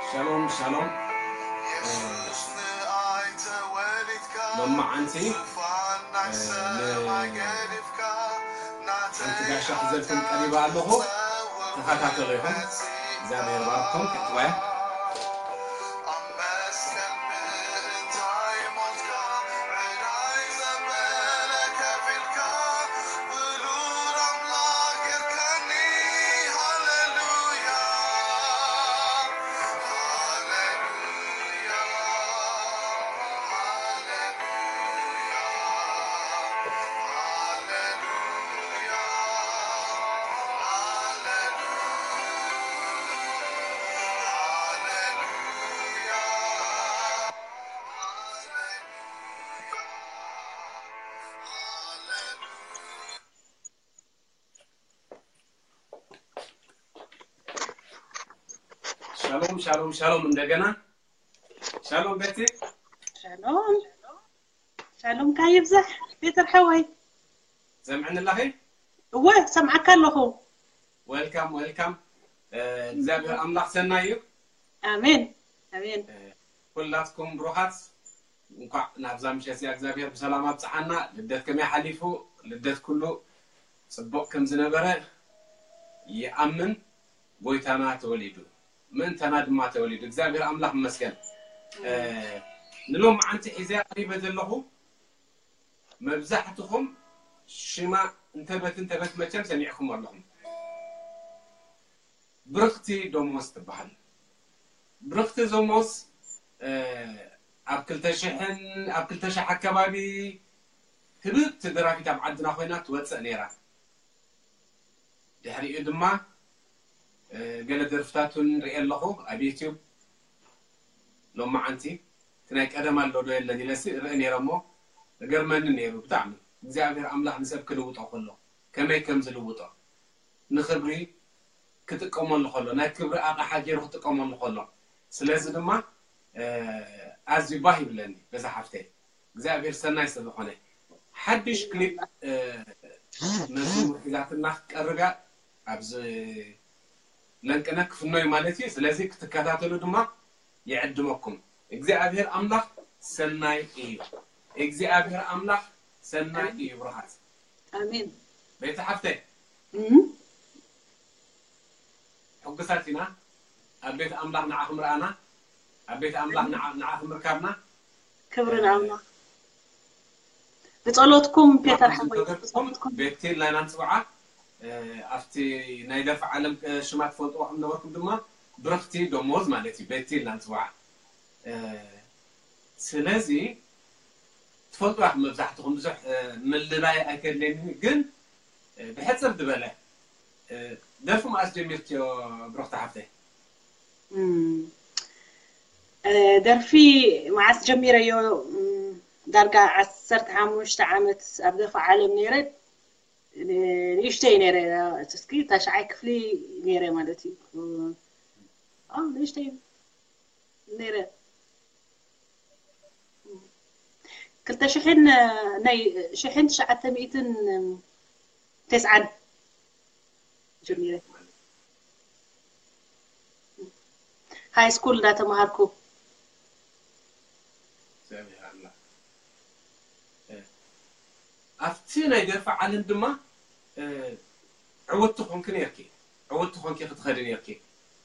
ሻሎም ሻሎም። ሎማዓንቲ ሓንቲ ጋሻ ክዘልኩም ቀሪባ ኣለኹ። ተኸታተሉ ኢኹም። እግዚኣብሔር ባርኩም። ቀጥዋያ ሻሎም ሻሎም ሻሎም። እንደገና ሻሎም ቤቲ። ሻሎም ሻሎም ካይብዛሕ ፔተር ሓወይ። ዘምዕኒ ኣለኺ? እወ ሰምዓካ ኣለኹ። ወልካም ወልካም። እግዚኣብሔር ኣምላኽ ሰናይ እዩ። ኣሜን ኣሜን። ኩላትኩም ብሩኻት፣ እንኳዕ ናብዛ ምሸት እዚኣ እግዚኣብሔር ብሰላም ኣብፅሓና። ልደት ከመይ ሓሊፉ? ልደት ኩሉ ፅቡቕ ከም ዝነበረ ይኣምን። ጎይታና ተወሊዱ፣ ምእንታና ድማ ተወሊዱ። እግዚኣብሔር ኣምላኽ ይመስገን። ንሎማዓንቲ ሒዘ ቀሪበ ዘለኹ መብዛሕትኹም ሽማ እንተበት እንተበት መቸም ሰሚዕኩም ኣለኹም። ብርኽቲ ደሞዝ ትበሃል። ብርኽቲ ደሞዝ ኣብ ክልተ ሽሕን ኣብ ክልተ ሽሕ ኣከባቢ ህብብቲ ደራፊት ኣብ ዓድና ኮይና ትወፅእ ነይራ። ድሕሪኡ ድማ ገለ ደርፍታቱን ሪኤ ኣለኹ ኣብ ዩቲዩብ። ሎማዓንቲ እቲ ናይ ቀደም ኣሎ ዶ የለን ኢለሲ ርኢ ነይረ እሞ እገርመኒ ነይሩ ብጣዕሚ። እግዚኣብሔር ኣምላኽ ንሰብ ክልውጦ ከሎ ከመይ ከም ዝልውጦ ንኽብሪ ክጥቀመሉ ከሎ ናይ ክብሪ ኣቕሓ ገይሩ ክጥቀመሉ ከሎ። ስለዚ ድማ ኣዝዩ ባህ ይብለኒ በዛ ሓፍተይ። እግዚኣብሔር ሰናይ ስለዝኾነ ሓድሽ ክሊፕ መዝሙር ሒዛትና ክትቀርብ እያ። ኣብዚ ለንቅነ ክፍኖ እዩ ማለት እዩ። ስለዚ ክትከታተሉ ድማ ይዕድመኩም። እግዚኣብሔር ኣምላኽ ሰናይ እዩ። እግዚኣብሔር ኣምላኽ ሰናይ እዩ። ብሩኻት ኣሜን። ቤተ ሓፍተይ እም፣ ሕጉሳት ኢና። ኣብ ቤት ኣምላኽ ንዓኹም ረኣና። ኣብ ቤት ኣምላኽ ንዓ- ንዓኹም ርካብና። ክብሪ ንኣምላኽ። ብጸሎትኩም ፔተር ሓወይ ተገርኩም ቤቴል ናይና ንጽውዓ። ኣብቲ ናይ ደርፊ ዓለም ሽማ ትፈልጥዋ ከም ነበርኩም ድማ ብርኽቲ ደሞዝ ማለት እዩ። ቤቴል ናንጽውዓ። ስለዚ ትፈልጥዋ ኢኹም መብዛሕትኹም፣ ብዙሕ ምልላይ ኣይከድለኒ፣ ግን ብሕጽር ዝበለ ደርፊ መዓስ ጀሚርክዮ ብርኽቲ ሓፍተይ? እም፣ እ፣ ደርፊ መዓስ ጀሚረዮ? እም፣ ዳርጋ ዓሰርተ ሓሙሽተ ዓመት ኣብ ደርፊ ዓለም ነይረ። ን- ንእሽተይ ነይረ፣ እስኪ ታሽዓይ ክፍሊ ነይረ ማለት እዩ። እ፣ አ፣ ንእሽተይ ነይረ። ክልተ ሽሕን፣ ናይ ሽሕን ትሽዓተ ሚእትን ተስዓን ጀሚረ። ሃይ ስኩል እንዳተማሃርኩ። እግዚኣብሔር ኣምላኽ። እ፣ ኣብቲ ናይ ደርፊ ዓለም ድማ፣ እ፣ ዕውትቲ ኮንኪ ነርኪ። ዕውትቲ ኮንኪ ክትኸዲ ነርኪ።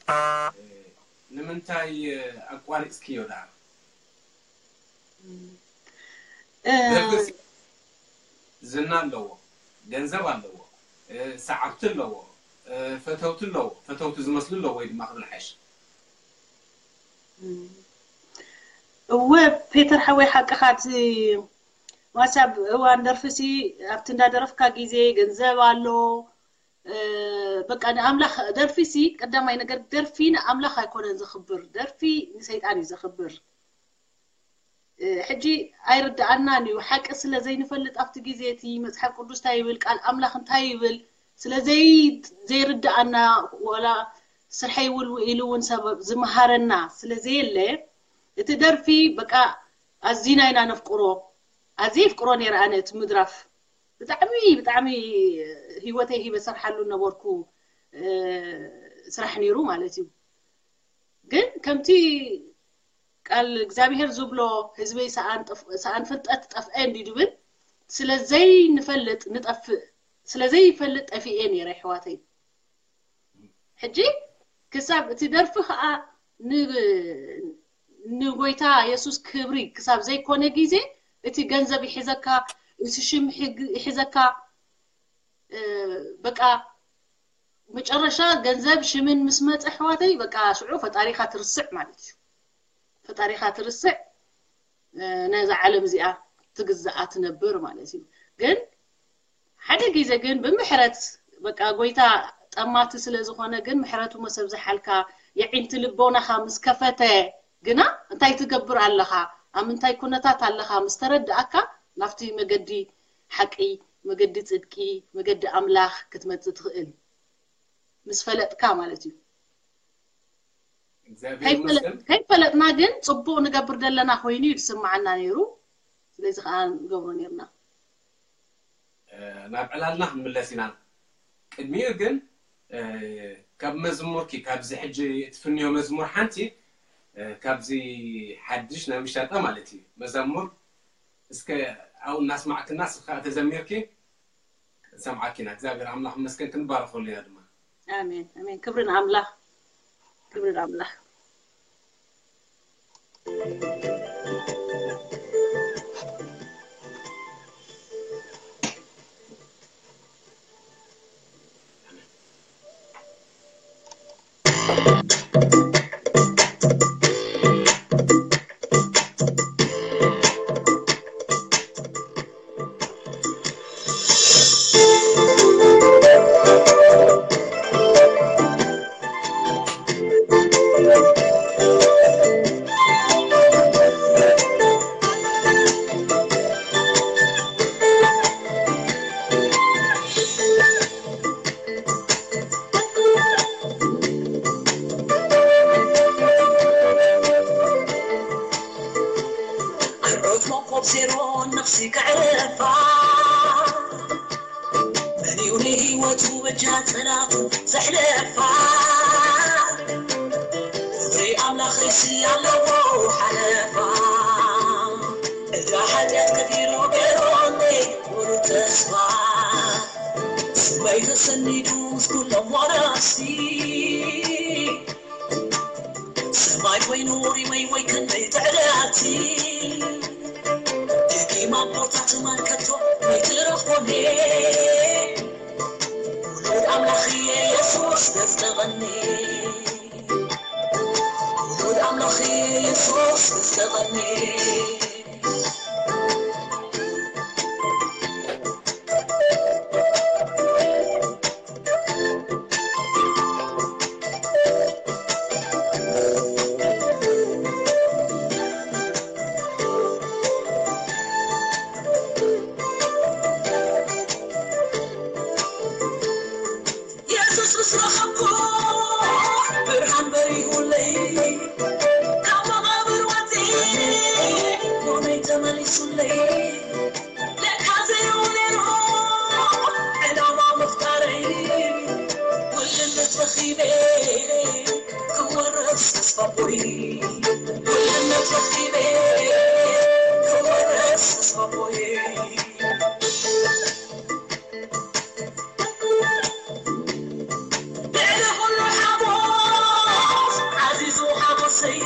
እ፣ ንምንታይ፣ እ፣ ኣቋሪጽክዮ ደኣ? እ፣ ደርፊ ዝና ኣለዎ፣ ገንዘብ ኣለዎ፣ እ፣ ሰዓብቲ ኣለዎ፣ እ፣ ፈተውቲ ኣለዎ፣ ፈተውቲ ዝመስሉ ኣለዎ ወይ ድማ ክብል ሓይሽ። እወ ፔተር ሓወይ ሓቅኻ፣ እቲ ማሳ ኣብ እዋን ደርፊሲ ኣብቲ እንዳደረፍካ ግዜ ገንዘብ ኣሎ። እ፣ በቃ ንኣምላኽ ደርፊሲ ቀዳማይ ነገር ደርፊ ንኣምላኽ ኣይኮነን ዘኽብር፣ ደርፊ ንሰይጣን እዩ ዘኽብር። እ፣ ሕጂ ኣይርድኣናን እዩ። ሓቂ ስለ ዘይንፈልጥ ኣብቲ ግዜ እቲ መጽሓፍ ቅዱስ እንታይ ይብል፣ ቃል ኣምላኽ እንታይ ይብል ስለ ዘይ-፣ ዘይርድኣና፣ ወላ ስርሐይ ውል ኢሉ እውን ሰብ ዝመሃረና ስለ ዘየለ፣ እቲ ደርፊ በቃ ኣዚና ኢና ነፍቅሮ። ኣዝየ ይፍቅሮ ነይረ ኣነ እቲ ምድራፍ። ብጣዕሚ፣ ብጣዕሚ ህይወተይ ሂበ ሰርሓሉ ነበርኩ፣ እ፣ ስራሕ ነይሩ ማለት እዩ። ግን ከምቲ ቃል እግዚኣብሔር ዝብሎ፣ ህዝበይ ሰኣን ፍልጠት ጠፍአ እንዲ ድብል፣ ስለዘይንፈልጥ ንጠፍእ፣ ስለዘይፈልጥ ጠፊኤ ነይረ ኣሕዋተይ። ሕጂ ክሳብ እቲ ደርፊ ከዓ ንጎይታ የሱስ ክብሪ ክሳብ ዘይኮነ ግዜ፣ እቲ ገንዘብ ይሕዘካ፣ እቲ ሽም ይሕዘካ። በቃ መጨረሻ ገንዘብ ሽምን ምስ መፀ ኣሕዋተይ፣ በቃ ሽዑ ፈጣሪካ ትርስዕ ማለት እዩ። ፈጣሪካ ትርስዕ፣ ነዛ ዓለም እዚኣ ትግዛኣ ትነብር ማለት እዩ። ግን ሓደ ግዜ ግን ብምሕረት፣ በቃ ጎይታ ጠማቲ ስለ ዝኾነ፣ ግን ምሕረቱ ምስ ኣብዝሓልካ፣ የዒንቲ ልቦናኻ ምስ ከፈተ ግና፣ እንታይ ትገብር ኣለኻ፣ ኣብ ምንታይ ኩነታት ኣለኻ ምስ ተረድኣካ፣ ናብቲ መገዲ ሓቂ፣ መገዲ ጽድቂ፣ መገዲ ኣምላኽ ክትመጽእ ትኽእል ምስ ፈለጥካ ማለት እዩ። ከይፈለጥና ግን ጽቡቕ ንገብር ዘለና ኮይኑ እዩ ዝስምዓና ነይሩ። ስለዚ ከዓ ንገብሮ ነይርና። ናብ ዕላልና ክንምለስ ኢና። ቅድሚኡ ግን ካብ መዝሙርኪ፣ ካብዚ ሕጂ እትፍንዮ መዝሙር ሓንቲ፣ ካብዚ ሓድሽ ናብ ምሻጣ ማለት እዩ፣ መዛሙር እስከ ኣብኡ እናስማዕክና ስኻ ተዘሚርኪ ሰምዓኪና። እግዚኣብሔር ኣምላኽ መስገን ክንባረኸሉ ኢና ድማ። ኣሜን ኣሜን። ክብሪ ንኣምላኽ፣ ክብሪ ንኣምላኽ። ዜሮ ነፍሲ ከዕረፋ፣ መን እዩ ንህይወቱ በጃ ጸላቱ ዘሕለፋ? ፍቕሪ ኣምላኽሲ ኣለዎ ሓለፋ። ዕዳ ሓጢኣት ከፊሉ ገይሮኒ ሙሉ ተስፋ። ስመይ ተሰኒዱ ምስ ኩሎም ዋራሲ። ሰማይ ወይ ኖሪ ወይ ወይ ክንደይ ትዕዳቲ። ደጊም ኣቦታት ማን ከቶ ወይ ትረኽቦኒ። ውሉድ ኣምላኽ የሱስ ገዝተቐኒ። ውሉድ ኣምላኽ የሱስ ገዝተቐኒ። የሱስ ምስ ረኸብኩ ብርሃን በሪሁለይ፣ ካብ መቓብር ወፂ ጎነይ ተመሊሱለይ። ለካ ዘይሩ ነይሩ ዕላማ ምፍጣረይ፣ ውልነት ረኺበ ክወርስ ተስፋ ኣቦይ። ውልነት ረኺበ ክወርስ ተስፋ ኣቦይ። ልዕሊ ኩሉ ሓጎስ ዓዚዙ ሓጎሰይ፣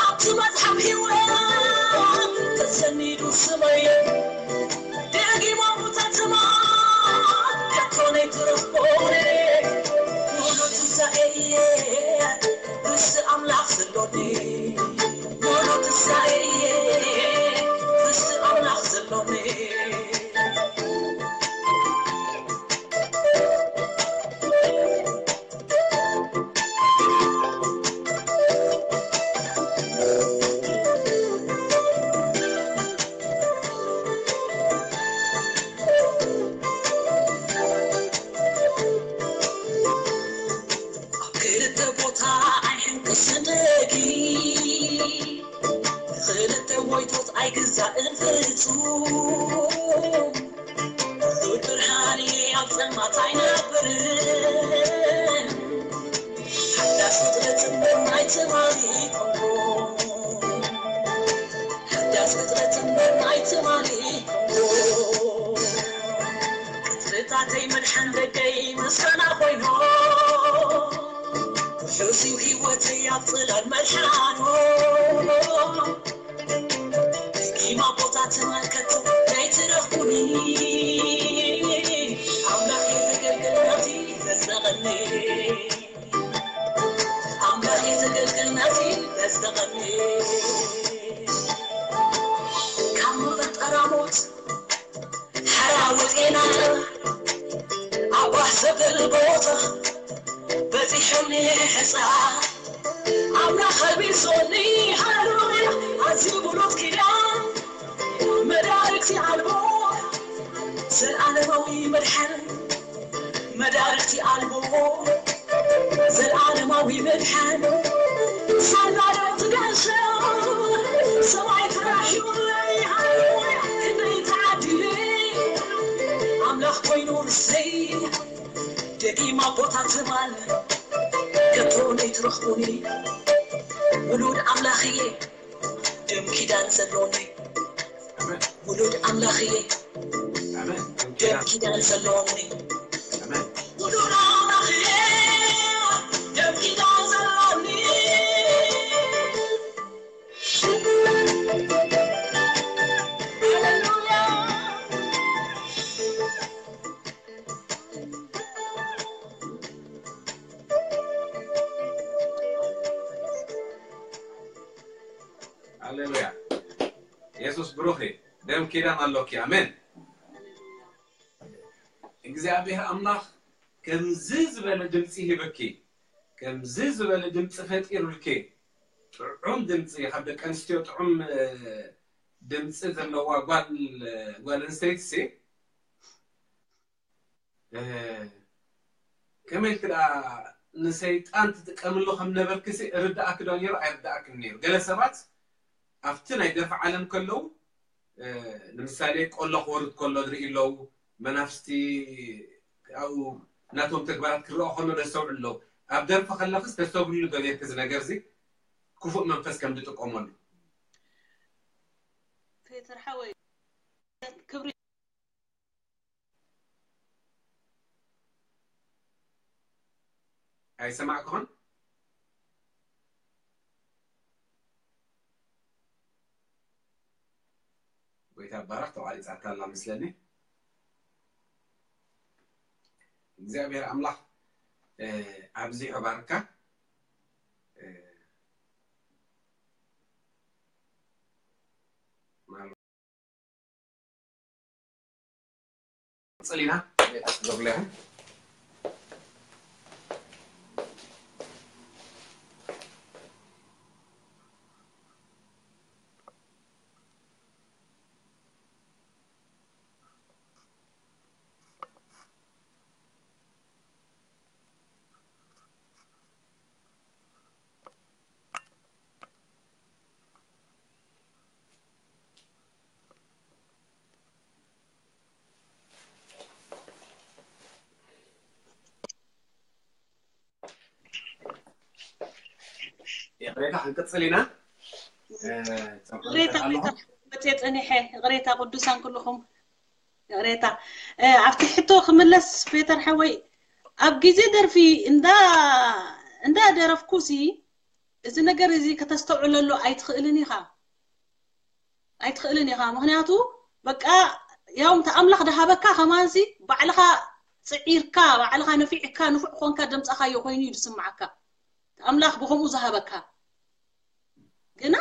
ኣብቲ መጽሓፍ ህይወት ተሰኒዱ ስመይ። ደጊም ኣቦታትና ከቶ ነይትረኽቦኒ፣ ሙሉ ትንሳኤ እየ ምስ ኣምላኽ ዘሎኒ። ሙሉ ትንሳኤ እየ ምስ ኣምላኽ ዘሎኒ። ኣብ ክልተ ቦታ ኣይሕንቅስን ደጊ፣ ንኽልተ ሞይቶት ኣይግዛእን ፍጹም። ብርሃን ኣብ ጸልማት ኣይነብርን፣ ሓዳስ ፍጥረት እምበር ሕሱብ ህይወተይ ኣብ ጽላል መድሓኖ ቂማ ቦታ ትማልከት ዘይትረኽቡኒ ኣምላኽ የተገልገልናቲ ፈጸቐኒ ኣምላኽ የተገልገልናቲ ፈጸቐኒ ካብ መፈጠራ ሞት ሓራ ወጤና ኣባህ ዘብል ቦታ በጺሖም ሕፃ ኣምላኽ ኣልቢሶኒ ሃሌሉያ ኣዝዩ ብሉጽ ኪዳን መዳርግቲ ኣልቦ ዘልኣለማዊ መድሓን መዳርግቲ ኣልቦ ዘልኣለማዊ መድሓን ሳላለት ጋሻ ሰማይ ፍራሕ ይብለይ ሃሌሉያ ክንደይ ተዓዲለ ኣምላኽ ኮይኑ ርሰይ ደጊም ኣቦታት ትማል ከቶ ነይትረኽቡኒ ውሉድ ኣምላኽ እየ ደም ኪዳን ዘሎኒ ውሉድ ኣምላኽ እየ ደም ኪዳን ዘሎኒ ውሉድ ኣምላኽ እየ ደም ኪዳን ዘሎኒ ሃሌሉያ የሱስ ብሩኽ እዩ ደም ኪዳን ኣሎኪ ኣሜን እግዚኣብሔር ኣምላኽ ከምዚ ዝበለ ድምፂ ሂብኪ ከምዚ ዝበለ ድምፂ ፈጢሩልኪ ጥዑም ድምፂ ካብ ደቂ ኣንስትዮ ጥዑም ድምፂ ዘለዋ ጓል ጓል ኣንስተይቲ ሲ ከመይ ኢልክ ደኣ ንሰይጣን ትጥቀምሉ ከም ነበርክሲ ርዳኣክ ዶ ነይሩ ኣይርዳኣክን ነይሩ ገለ ሰባት ኣብቲ ናይ ደርፊ ዓለም ከለዉ ንምሳሌ ቆሎ ክወርድ ከሎ ዝርኢ ኣለዉ መናፍስቲ ኣብኡ ናቶም ተግባራት ክረኦ ከሎ ደስተውዕሉ ኣለዉ ኣብ ደርፊ ከለክስ ተስተብህሉ ዶ ነርክ እዚ ነገር እዚ ክፉእ መንፈስ ከም ዝጥቀመሉ ፔተር ሓወይ ክብሪ ኣይሰማዕኩኽን ጎይታ ባረኽ ተቋሪፃታ ኣላ መስለኒ እግዚኣብሔር ኣምላኽ ኣብዚሑ ባርካ ንቕፅል ኢና። ይቕሬታ ክንቅፅል ኢና። ይቕሬታ መፅየ ፀኒሐ። ይቕሬታ ቅዱሳን ኩልኹም ይቕሬታ። ኣብቲ ሕቶ ክምለስ ፔተር ሓወይ ኣብ ግዜ ደርፊ እንዳ እንዳ ደረፍኩሲ እዚ ነገር እዚ ከተስተውዕለሉ ኣይትኽእልን ኢኻ። ኣይትኽእልን ኢኻ ምኽንያቱ በቃ ያው እንተ ኣምላኽ ድሃበካ ከማንሲ ባዕልኻ ጽዒርካ ባዕልኻ ነፊዕካ ንፉዕ ኮንካ ደምጻኻዮ ኮይኑ እዩ ዝስምዓካ ኣምላኽ ብኸምኡ ዝሃበካ ግና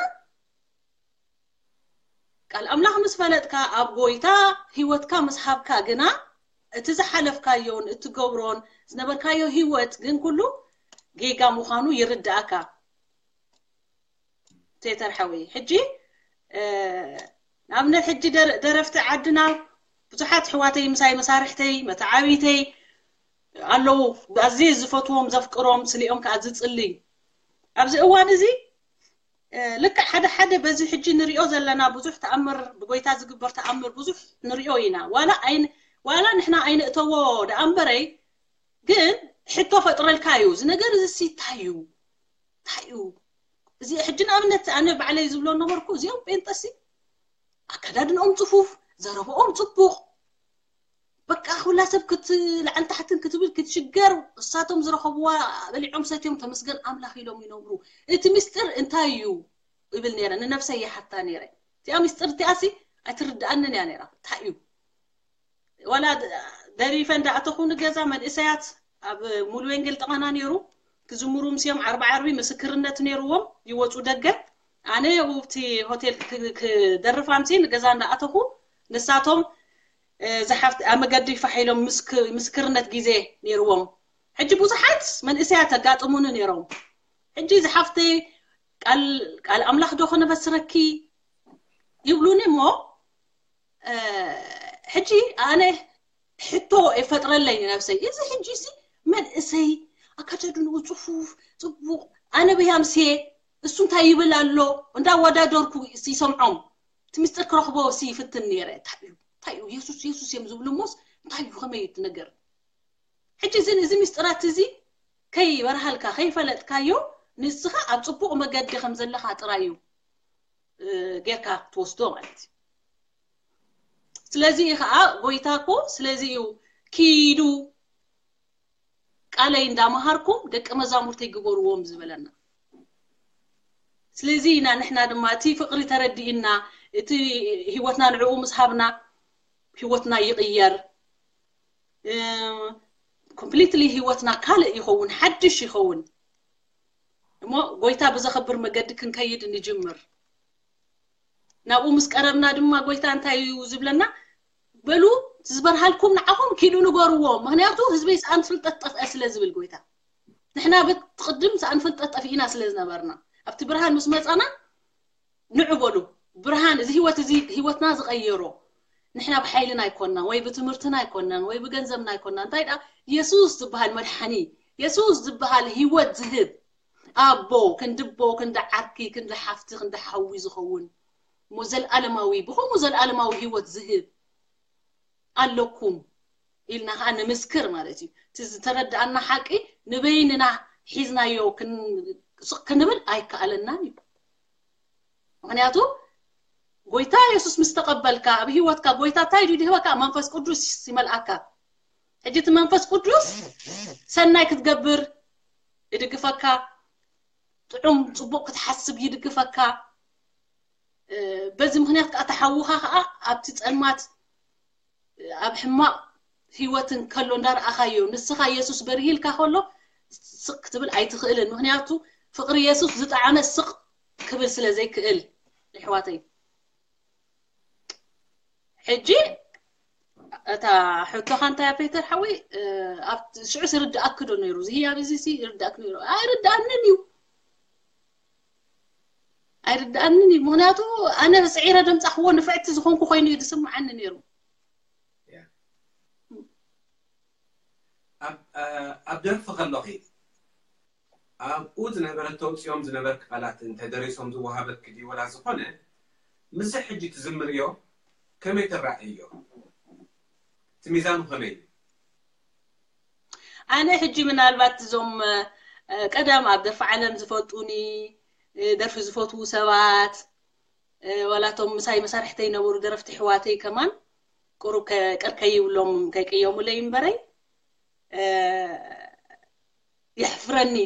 ቃል ኣምላኽ ምስ ፈለጥካ ኣብ ጎይታ ህይወትካ ምስ ሃብካ ግና እቲ ዝሓለፍካዮን እትገብሮን ዝነበርካዮ ህይወት ግን ኩሉ ጌጋ ምዃኑ ይርድኣካ ቴተር ሓወይ ሕጂ ንኣብነት ሕጂ ደረፍቲ ዓድና ብዙሓት ኣሕዋተይ ምሳይ መሳርሕተይ መተዓብይተይ ኣለዉ ኣዝየ ዝፈትዎም ዘፍቅሮም ስሊኦም ከዓ ዝፅልይ ኣብዚ እዋን እዚ ልክዕ ሓደ ሓደ በዚ ሕጂ ንሪኦ ዘለና ብዙሕ ተኣምር ብጎይታ ዝግበር ተኣምር ብዙሕ ንሪኦ ኢና ዋላ ኣይን ዋላ ንሕና ኣይንእተዎ ደኣ እምበረይ ግን ሕቶ ፈጥረልካ እዩ እዚ ነገር እዚ እንታይ እዩ እንታይ እዩ እዚ ሕጂ ንኣብነት ኣነ ባዕለይ ዝብሎ ነበርኩ እዚኦም ጴንጠሲ ኣከዳድንኦም ፅፉፍ ዘረብኦም ፅቡቕ በቃ ኩላ ሰብ ክትልዓል ታሕትን ክትብል ክትሽገር፣ እሳቶም ዝረኸብዋ በሊዖም ሰትዮም ተመስገን ኣምላኽ ኢሎም ይነብሩ። እቲ ምስጢር እንታይ እዩ እብል ነይረ፣ ንነብሰይ ይሓታ ነይረ። እቲኣ ምስጢር እቲኣሲ ኣይትርድኣንን እያ ነይራ። እንታይ እዩ ዋላ ደሪፈ እንዳኣተኹ ንገዛ መንእሰያት ኣብ ሙሉ ወንጌል ጥቓና ነይሩ፣ ክዝምሩ ምስዮም ዓርቢ ዓርቢ ምስክርነት ነይርዎም፣ ይወፁ ደገ። ኣነ ኣብቲ ሆቴል ክ- ክደርፍ ኣምሲ ንገዛ እንዳኣተኹ ንሳቶም ዝሓፍት ኣብ መገዲ ፋሕ ኢሎም ምስክ- ምስክርነት ግዜ ነይርዎም። ሕጂ ብዙሓት መንእሰያት ኣጋጥሙኒ ነይሮም። ሕጂ ዝሓፍተይ ቃል ቃል ኣምላኽ ዶ ከነበስረኪ ይብሉኒ እሞ ሕጂ ኣነ ሕቶ የፈጥረለይ ንነብሰይ። እዚ ሕጂ ሲ መንእሰይ ኣካዳድንኡ ጽፉፍ ጽቡቕ፣ ኣነ ብያምሴ እሱ እንታይ ይብል ኣሎ እንዳወዳደርኩ ይሰምዖም። እቲ ምስጢር ክረኽቦ ሲ ይፍትን ነይረ። እንታይ እዩ እንታይ እዩ የሱስ የሱስ እዮም ዝብሉ እሞስ እንታይ እዩ ከመይ እዩ እቲ ነገር? ሕጂ እዚ እዚ ምስጢራት እዚ ከይበርሃልካ ከይፈለጥካዮ ንስኻ ኣብ ጽቡቕ መገዲ ከም ዘለኻ ጥራይ እዩ እ፣ ጌርካ ትወስዶ ማለት እዩ። ስለዚ እዩ ከዓ ጎይታ እኮ ስለዚ እዩ ኪዱ ቃለይ እንዳመሃርኩም ደቂ መዛሙርተይ ግበርዎም ዝበለና። ስለዚ ኢና ንሕና ድማ እቲ ፍቕሪ ተረዲእና እቲ ህይወትና ንዕኡ ምስ ሃብና ህይወትና ይቕየር። ኮምፕሊትሊ ህይወትና ካልእ ይኸውን፣ ሓድሽ ይኸውን። እሞ ጎይታ ብዘኸብር መገዲ ክንከይድ ንጅምር። ናብኡ ምስ ቀረብና ድማ ጎይታ እንታይ እዩ ዝብለና? በሉ ዝበርሃልኩም ንዓኹም ኪዱ ንገርዎ፣ ምክንያቱ ህዝበይ ሰኣን ፍልጠት ጠፍአ ስለ ዝብል ጎይታ። ንሕና ብትቕድም ሰኣን ፍልጠት ጠፊእና ስለ ዝነበርና ኣብቲ ብርሃን ምስ መፃና ንዑ በሉ ብርሃን እዚ ህይወት እዚ ህይወትና ዝቐየሮ ንሕና ብሓይልና ኣይኮንናን ወይ ብትምህርትና ኣይኮንናን ወይ ብገንዘብና ኣይኮንና እንታይ ደኣ የሱስ ዝበሃል መድሓኒ የሱስ ዝበሃል ህይወት ዝህብ ኣቦ ክንዲ ኣቦ ክንዲ ዓርኪ ክንዲ ሓፍቲ ክንዲ ሓዊ ዝኸውን እሞ ዘለኣለማዊ ብኸምኡ ዘለኣለማዊ ህይወት ዝህብ ኣለኩም ኢልና ከዓ ንምስክር ማለት እዩ እቲ ዝተረዳኣና ሓቂ ንበይንና ሒዝናዮ ስቕ ክንብል ኣይከኣለናን እዩ ምክንያቱ ጎይታ የሱስ ምስ ተቐበልካ ኣብ ህይወትካ ጎይታ እንታይ ድዩ ዝህበካ መንፈስ ቅዱስ ይመልኣካ ሕጂ እቲ መንፈስ ቅዱስ ሰናይ ክትገብር ይድግፈካ ጥዑም ፅቡቅ ክትሓስብ ይድግፈካ በዚ ምክንያት ከዓ ተሓውካ ከዓ ኣብቲ ፀልማት ኣብ ሕማቕ ህይወትን ከሎ እንዳረኣኻዮ ንስኻ የሱስ በርሂልካ ከሎ ስቕ ክትብል ኣይትኽእልን ምክንያቱ ፍቕሪ የሱስ ዝጠዓመ ስቕ ክብል ስለ ዘይክእል ይሕዋተይ ሕጂ እታ ሕቶኻ እንታይ ያ ፔተር ሓወይ ኣብ ሽዑ ስርድኣክ ዶ ነይሩ እዚ ህያብ እዚ ሲ ይርድኣክ ነይሩ ኣይርድኣንን እዩ ኣይርድኣንን እዩ ምክንያቱ ኣነ ስዒረ ደምፃኽዎ ንፍዕቲ ዝኾንኩ ኮይኑ እዩ ዝስምዓኒ ነይሩ ኣብ ደርፊ ከለኺ ኣብኡ ዝነበረ ተውፅኦም ዝነበርክ ቃላት እንተደሪሶም ዝወሃበክ ድዩ ወላ ዝኾነ ምስ ሕጂ ትዝምርዮ ከመይ ትረኣዮ እቲ ሚዛኑ ከመይ እዩ ኣነ ሕጂ ምናልባት እዞም ቀደም ኣብ ደርፊ ዓለም ዝፈልጡኒ ደርፊ ዝፈትዉ ሰባት ዋላቶም ምሳይ መሳርሕተይ ነበሩ ደረፍቲ ሕዋተይ ከማን ቁሩብ ቅር ከይብሎም ከይቅየሙለይ እምበረይ የሕፍረኒ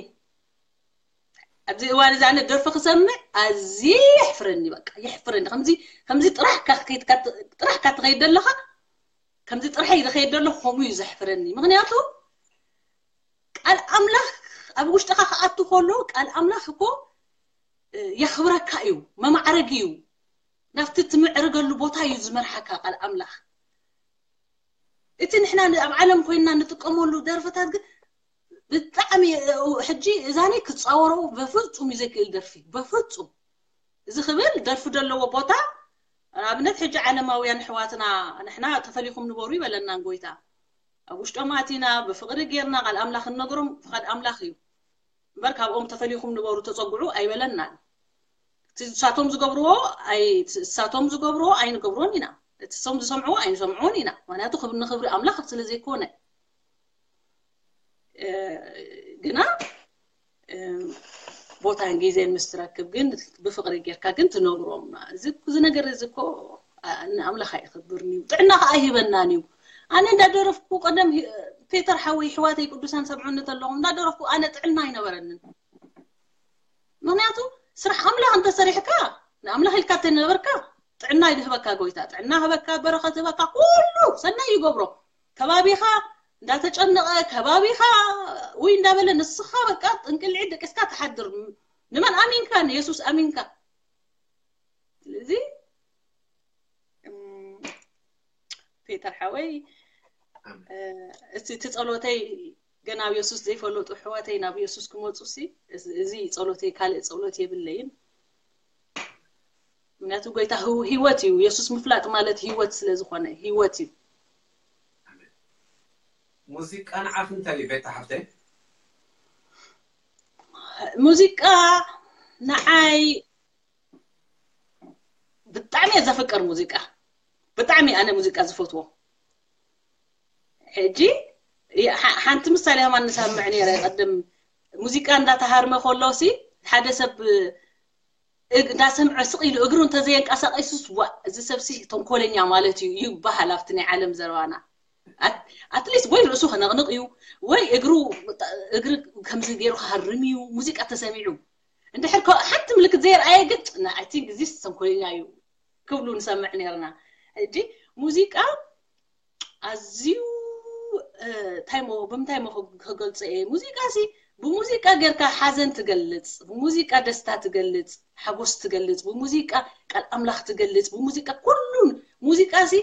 ኣብዚ እዋን እዚ ኣነ ደርፊ ክሰምዕ ኣዝየ የሕፍረኒ በቃ የሕፍረኒ ከምዚ ከምዚ ጥራሕካ ጥራሕካ ትኸይድ ዘለኻ ከምዚ ጥራሕ ይኸይድ ዘሎ ከምኡ እዩ ዘሕፍረኒ ምክንያቱ ቃል ኣምላኽ ኣብ ውሽጥኻ ክኣቱ ከሎ ቃል ኣምላኽ እኮ የኽብረካ እዩ መማዕረግ እዩ ናብቲ ትምዕርገሉ ቦታ እዩ ዝመርሓካ ቃል ኣምላኽ እቲ ንሕና ኣብ ዓለም ኮይንና ንጥቀመሉ ደርፍታት ግን ብጣዕሚ ሕጂ እዛኒ ክፃወሮ በፍፁም እዩ ዘይክእል ደርፊ በፍፁም እዚ ክብል ደርፊ ዘለዎ ቦታ ኣብነት ሕጂ ዓለማውያን ኣሕዋትና ንሕና ተፈሊኹም ንበሩ ይበለናን ጎይታ ኣብ ውሽጦም ኣቲና ብፍቕሪ ጌርና ቃል ኣምላኽ ንነግሮም ፍቓድ ኣምላኽ እዩ እምበር ካብኦም ተፈሊኹም ንበሩ ተፀጉዑ ኣይበለናን እቲ ንሳቶም ዝገብርዎ ንሳቶም ዝገብርዎ ኣይንገብሮን ኢና እቲ ሶም ዝሰምዕዎ ኣይንሰምዕዎን ኢና ምክንያቱ ንኽብሪ ኣምላኽ ስለ ዘይኮነ ግና ቦታን ግዜን ምስ ትረክብ ግን ብፍቕሪ ጌርካ ግን ትነግሮም እዚ ነገር እዚ እኮ ንኣምላኽ ኣይኽብርን እዩ ጥዕና ከዓ ኣይህበናን እዩ ኣነ እንዳደረፍኩ ቀደም ሂ- ፔተር ሓወይ ኣሕዋተይ ቅዱሳን ሰምዑኒ ተለኹም እንዳደረፍኩ ኣነ ጥዕና ኣይነበረንን። ምክንያቱ ስራሕ ኣምላኽ እንተሰሪሕካ ንኣምላኽ ኢልካ ተነበርካ ጥዕና ይድህበካ ጎይታ፣ ጥዕና ህበካ፣ በረኸት ህበካ፣ ኩሉ ሰናይ ይገብሮ። ከባቢኻ እንዳተጨነቐ ከባቢኻ ውይ እንዳበለ ንስኻ በቃ ጥንቅልዒ ደቂስካ ትሓድር። ንመን ኣሚንካ? ንየሱስ ኣሚንካ። ስለዚ እም፣ ፔተር ሓወይ፣ እቲ እቲ ጸሎተይ ገና ኣብ የሱስ ዘይፈለጡ ኣሕዋተይ ናብ የሱስ ክመጹ ሲ እዚ- እዚ ጸሎተይ ካልእ ጸሎት የብለይን። ምክንያቱ ጎይታ ህው- ህይወት እዩ። የሱስ ምፍላጥ ማለት ህይወት ስለ ዝኾነ ህይወት እዩ። ሙዚቃ ንዓኺ እንታይ እዩ ቤታ ሓፍተይ? ሙዚቃ ንዓይ ብጣዕሚ እየ ዘፍቅር ሙዚቃ። ብጣዕሚ ኣነ ሙዚቃ ዝፈትዎ። ሕጂ የ- ሓ- ሓንቲ ምሳሌ ከማን ንሰምዕ ነይረ። ቅድም ሙዚቃ እንዳተሃርመ ከሎ ሲ ሓደ ሰብ እግ- እንዳሰምዐ ስቕ ኢሉ እግሩ እንተዘየንቀሳቀሱስ ዋ እዚ ሰብ ሲ ተንኮለኛ ማለት እዩ ይበሃል ኣብቲ ናይ ዓለም ዘረባና። ኣትሊስት ወይ ርእሱ ከነቕንቕ እዩ ወይ እግሩ እግሪ ከምዚ ገይሩ ክሃርም እዩ ሙዚቃ ተሰሚዑ። እንድሕር ከ- ሓንቲ ምልክት ዘየርኣየ ግን I think እዚስ ተንኮለኛ እዩ ክብሉ ንሰምዕ ነርና። ሕጂ ሙዚቃ ኣዝዩ እንታይ ሞ ብምንታይ ሞ ክገልጾ እየ? ሙዚቃ ሲ ብሙዚቃ ጌርካ ሓዘን ትገልጽ፣ ብሙዚቃ ደስታ ትገልጽ፣ ሓጎስ ትገልጽ፣ ብሙዚቃ ቃል ኣምላኽ ትገልጽ፣ ብሙዚቃ ኩሉን ሙዚቃ ሲ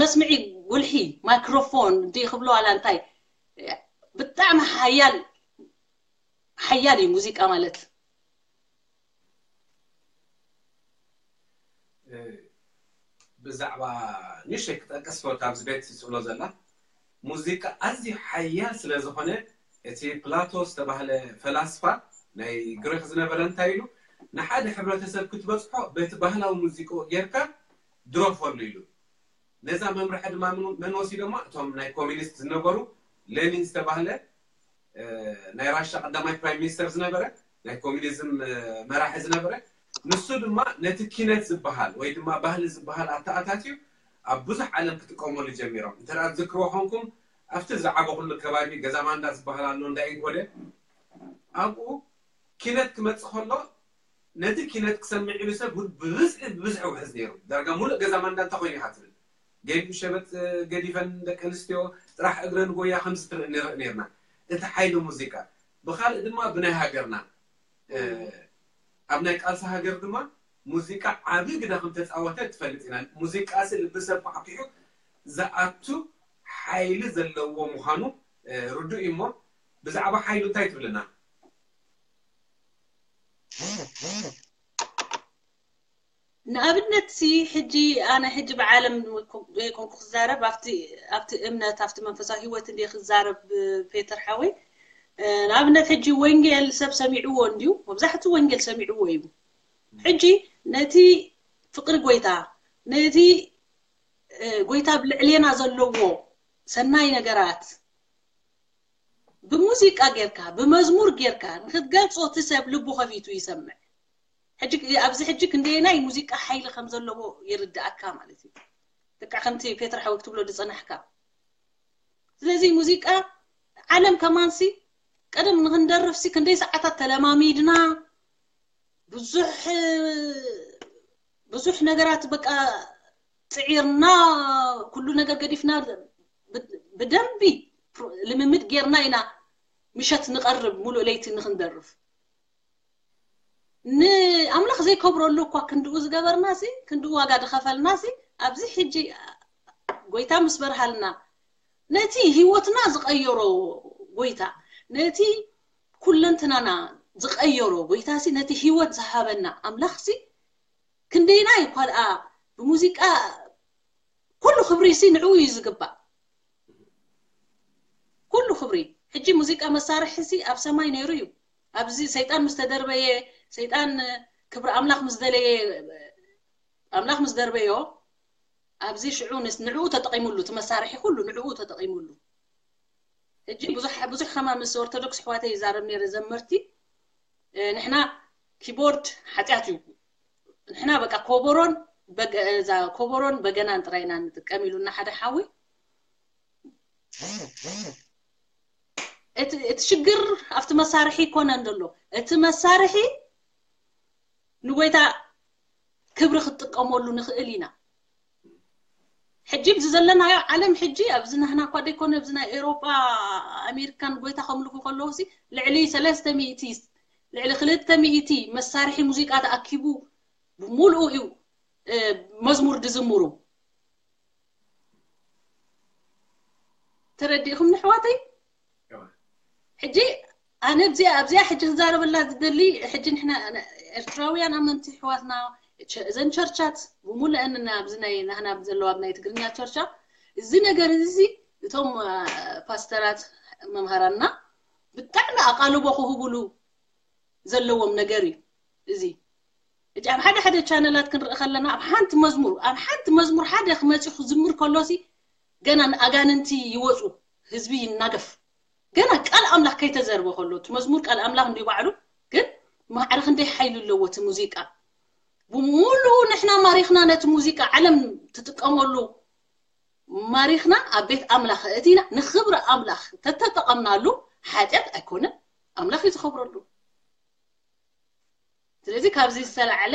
መስምዒ ጉልሒ ማይክሮፎን እንዲ ክብሎ ዋላ እንታይ ብጣዕሚ ሓያል ሓያል እዩ ሙዚቃ ማለት። ብዛዕባ ንእሽተይ ክጠቅስ ከሎ ኣብዚ ቤት ትብሎ ዘላ ሙዚቃ ኣዝዩ ሓያል ስለ ዝኾነ እቲ ፕላቶ ዝተባህለ ፈላስፋ ናይ ግሪክ ዝነበረ እንታይ ኢሉ ንሓደ ሕብረተሰብ ክትበፅሖ በቲ ባህላዊ ሙዚቃ ጌርካ ድረፈሉ ኢሉ ነዛ መምርሒ ድማ መን ወሲዶማ እቶም ናይ ኮሚኒስት ዝነበሩ ሌኒን ዝተባህለ ናይ ራሻ ቀዳማይ ፕራይም ሚኒስተር ዝነበረ ናይ ኮሚኒዝም መራሒ ዝነበረ ንሱ ድማ ነቲ ኪነት ዝበሃል ወይ ድማ ባህሊ ዝበሃል ኣተኣታትዩ ኣብ ብዙሕ ዓለም ክጥቀመሉ ጀሚሮም እንተ ዝክርዎ ኮንኩም ኣብቲ ዝዓበኹሉ ከባቢ ገዛ ማንዳ ዝበሃል ኣሎ እንዳ ኢንኮደ ኣብኡ ኪነት ክመፅእ ከሎ ነቲ ኪነት ክሰምዕ ኢሉ ሰብ እውን ብብዝሒ ብብዝሒ ውሕዝ ነይሩ ዳርጋ ሙሉእ ገዛ ማንዳ እንታይ ኮይኑ ኢኻ ትብል ገዲኡ ሸበጥ ገዲፈን ደቂ ኣንስትዮ ጥራሕ እግረን ጎያ ከምዚ ትርኢ ንርኢ ነርና እቲ ሓይሊ ሙዚቃ ብካልእ ድማ ብናይ ሃገርና ኣብ ናይ ቃልሲ ሃገር ድማ ሙዚቃ ዓቢ ግደ ከም ተፃወተ ትፈልጥ ኢና ሙዚቃ ሲ ልቢ ሰብ ኳዕኪሑ ዝኣቱ ሓይሊ ዘለዎ ምዃኑ ርዱእ እዩ እሞ ብዛዕባ ሓይሉ እንታይ ትብልና ንኣብነት ሲ ሕጂ ኣነ ሕጂ ብዓለም ዘይኮንኩ ክዛረብ ኣብቲ ኣብቲ እምነት ኣብቲ መንፈሳዊ ህይወት እንደ ክዛረብ ፔተር ሓወይ ንኣብነት ሕጂ ወንጌል ሰብ ሰሚዕዎ እንድዩ መብዛሕቱ ወንጌል ሰሚዕዎ እዩ ሕጂ ነቲ ፍቅሪ ጎይታ ነቲ ጎይታ ብልዕሌና ዘለዎ ሰናይ ነገራት ብሙዚቃ ጌርካ ብመዝሙር ጌርካ ንክትገልፆ እቲ ሰብ ልቡ ከፊቱ ይሰምዕ ሕጂ ኣብዚ ሕጂ ክንደየናይ ሙዚቃ ሓይሊ ከም ዘለዎ ይርድኣካ ማለት እዩ ልክዕ ከምቲ ፔትር ሓዊ ክትብሎ ዝፀናሕካ ስለዚ ሙዚቃ ዓለም ከማንሲ ቀደም ንክንደርፍሲ ክንደይ ሰዓታት ተለማሚድና ብዙሕ ብዙሕ ነገራት በቃ ፅዒርና ኩሉ ነገር ገዲፍና ብደንቢ ልምምድ ጌርና ኢና ምሸት ንቐርብ ሙሉእ ለይቲ ንክንደርፍ ንኣምላኽ ዘይከብረሉ እኳ ክንድኡ ዝገበርና ሲ ክንድኡ ዋጋ ዝኸፈልና ሲ ኣብዚ ሕጂ ጎይታ ምስ በርሃልና ነቲ ህይወትና ዝቐየሮ ጎይታ ነቲ ኩለንትናና ዝቐየሮ ጎይታ ሲ ነቲ ህይወት ዝሃበና ኣምላኽ ሲ ክንደይናይ እኳ ደኣ ብሙዚቃ ኩሉ ክብሪ ሲ ንዕኡ እዩ ዝግባእ ኩሉ ክብሪ ሕጂ ሙዚቃ መሳርሒ ሲ ኣብ ሰማይ ነይሩ እዩ ኣብዚ ሰይጣን ምስ ተደርበየ ሰይጣን ክብሪ ኣምላኽ ምስ ደለየ ኣምላኽ ምስ ደርበዮ ኣብዚ ሽዑ ንስ ንዕኡ ተጠቂሙሉ እቲ መሳርሒ ኩሉ ንዕኡ ተጠቂሙሉ ሕጂ ብዙሕ ብዙሕ ከማ ምስ ኦርቶዶክስ ኣሕዋተይ ይዛረብ ነይረ ዘመርቲ ንሕና ኪቦርድ ሓጢኣት እዩ ንሕና በቃ ኮቦሮን በገ- እዛ ኮቦሮን በገናን ጥራይ ኢና ንጥቀም ኢሉና ሓደ ሓዊ። እቲ እቲ ሽግር ኣብቲ መሳርሒ ይኮነን ዘሎ። እቲ መሳርሒ ንጎይታ ክብሪ ክትጥቀመሉ ንኽእል ኢና። ሕጂ ኣብዚ ዘለናዮ ዓለም ሕጂ ኣብዚ ናህና እኳ ደይኮነ ኣብዚ ናይ ኤውሮጳ ኣሜሪካን ጎይታ ከምልኹ ከለዉ ሲ ልዕሊ ሰለስተ ሚእቲ ልዕሊ ክልተ ሚእቲ መሳርሒ ሙዚቃ ተኣኪቡ ብምሉኡ እዩ እ፣ መዝሙር ድዝምሩ። ተረዲእኹም ንሕዋተይ? ሕጂ ኣነ ኣብዚኣ ኣብዚኣ ሕጂ ክዛረበላ ዝደሊ ሕጂ ንሕና ኤርትራውያን ኣመንቲ ኣሕዋትና ቸ- እዘን ቸርቻት ብምሉአን ኣብዚ ናይ ናህና ዘለዋ ኣብ ናይ ትግርኛ ቸርቻ እዚ ነገር እዚ እቶም አ፣ ፓስተራት መምሃራንና ብጣዕሚ ኣቓልቦ ክህብሉ ዘለዎም ነገር እዩ እዚ። ሕጂ ኣብ ሓደ ሓደ ቻነላት ክንርኢ ከለና ኣብ ሓንቲ መዝሙር ኣብ ሓንቲ መዝሙር ሓደ ክመፅእ ክዝምር ከሎሲ ገና ንኣጋንንቲ ይወፁ፣ ህዝቢ ይናገፍ። ገና ቃል ኣምላኽ ከይተዘርበ ከሎ እቲ መዝሙር ቃል ኣምላኽ እንዲ ባዕሉ ግን ማዕረ ክንደይ ሓይሊ ኣለዎ እቲ ሙዚቃ። ብሙሉኡ ንሕና ማሪኽና ነቲ ሙዚቃ ዓለም ትጥቀመሉ ማሪኽና ኣብ ቤት ኣምላኽ እቲና ንኽብሪ ኣምላኽ ተተጠቐምናሉ ሓጢኣት ኣይኮነን፣ ኣምላኽ እዩ ዝኸብረሉ። ስለዚ ካብዚ ዝተላዕለ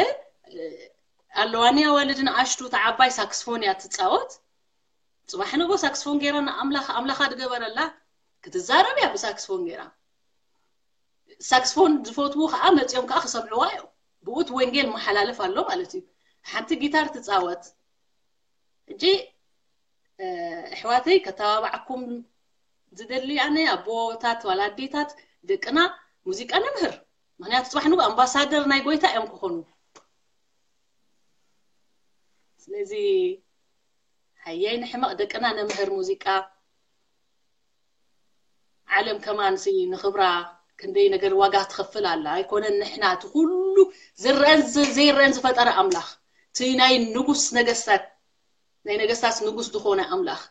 ኣለዋኒ ኣዋልድ ንኣሽቱ ተዓባይ ሳክስፎን እያ ትፃወት። ፅባሕ ንጎ ሳክስፎን ገይራ ንኣምላኽ ኣምላኻ ድገበረላ ክትዛረብ እያ ብሳክስፎን ገይራ። ሳክስፎን ዝፈትዉ ከዓ መፂኦም ከዓ ክሰምዕዋ እዮም። ብኡት ወንጌል መሓላለፍ ኣሎ ማለት እዩ። ሓንቲ ጊታር ትፃወት። ሕጂ ኣሕዋተይ ከተባባዕኩም ዝደሊ ኣነ ኣቦታት ዋላ ኣዴታት ደቅና ሙዚቃ ነምህር። ምክንያቱ ፅባሕ ንጎ ኣምባሳደር ናይ ጎይታ እዮም ክኾኑ። ስለዚ ሃያይ ንሕመቕ ደቅና ነምህር ሙዚቃ። ዓለም ከማን ሲ ንኽብራ ክንደይ ነገር ዋጋ ትኸፍል ኣላ። ኣይኮነን ንሕና እቲ ኩሉ ዝረአን ዘይረአን ዝፈጠረ ኣምላኽ እቲ ናይ ንጉስ ነገስታት ናይ ነገስታት ንጉስ ዝኾነ ኣምላኽ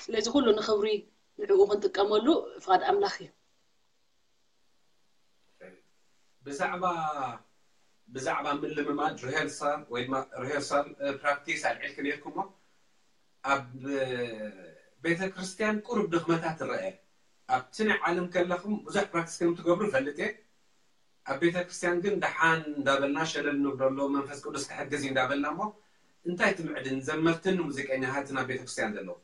ስለዚ ኩሉ ንኽብሪ ንዕኡ ክንጥቀመሉ ፍቓድ ኣምላኽ እዩ። ብዛዕባ ብዛዕባ ምልምማድ ሪሄርሳል ወይ ድማ ሪሄርሳል ፕራክቲስ ኣልዒልክ ነርኩሞ ኣብ ቤተ ክርስቲያን ቁሩብ ድኽመታት ትረአ ኣብቲ ናይ ዓለም ከለኹም ብዙሕ ፕራክቲስ ከም ትገብሩ ፈልጥ እየ ኣብ ቤተ ክርስቲያን ግን ደሓን እንዳበልና ሸለል ንብለሎ መንፈስ ቅዱስ ክሕግዝ እዩ እንዳበልና እሞ እንታይ ትምዕድን ዘመርትን ሙዚቀኛታትን ኣብ ቤተ ክርስቲያን ዘለዉ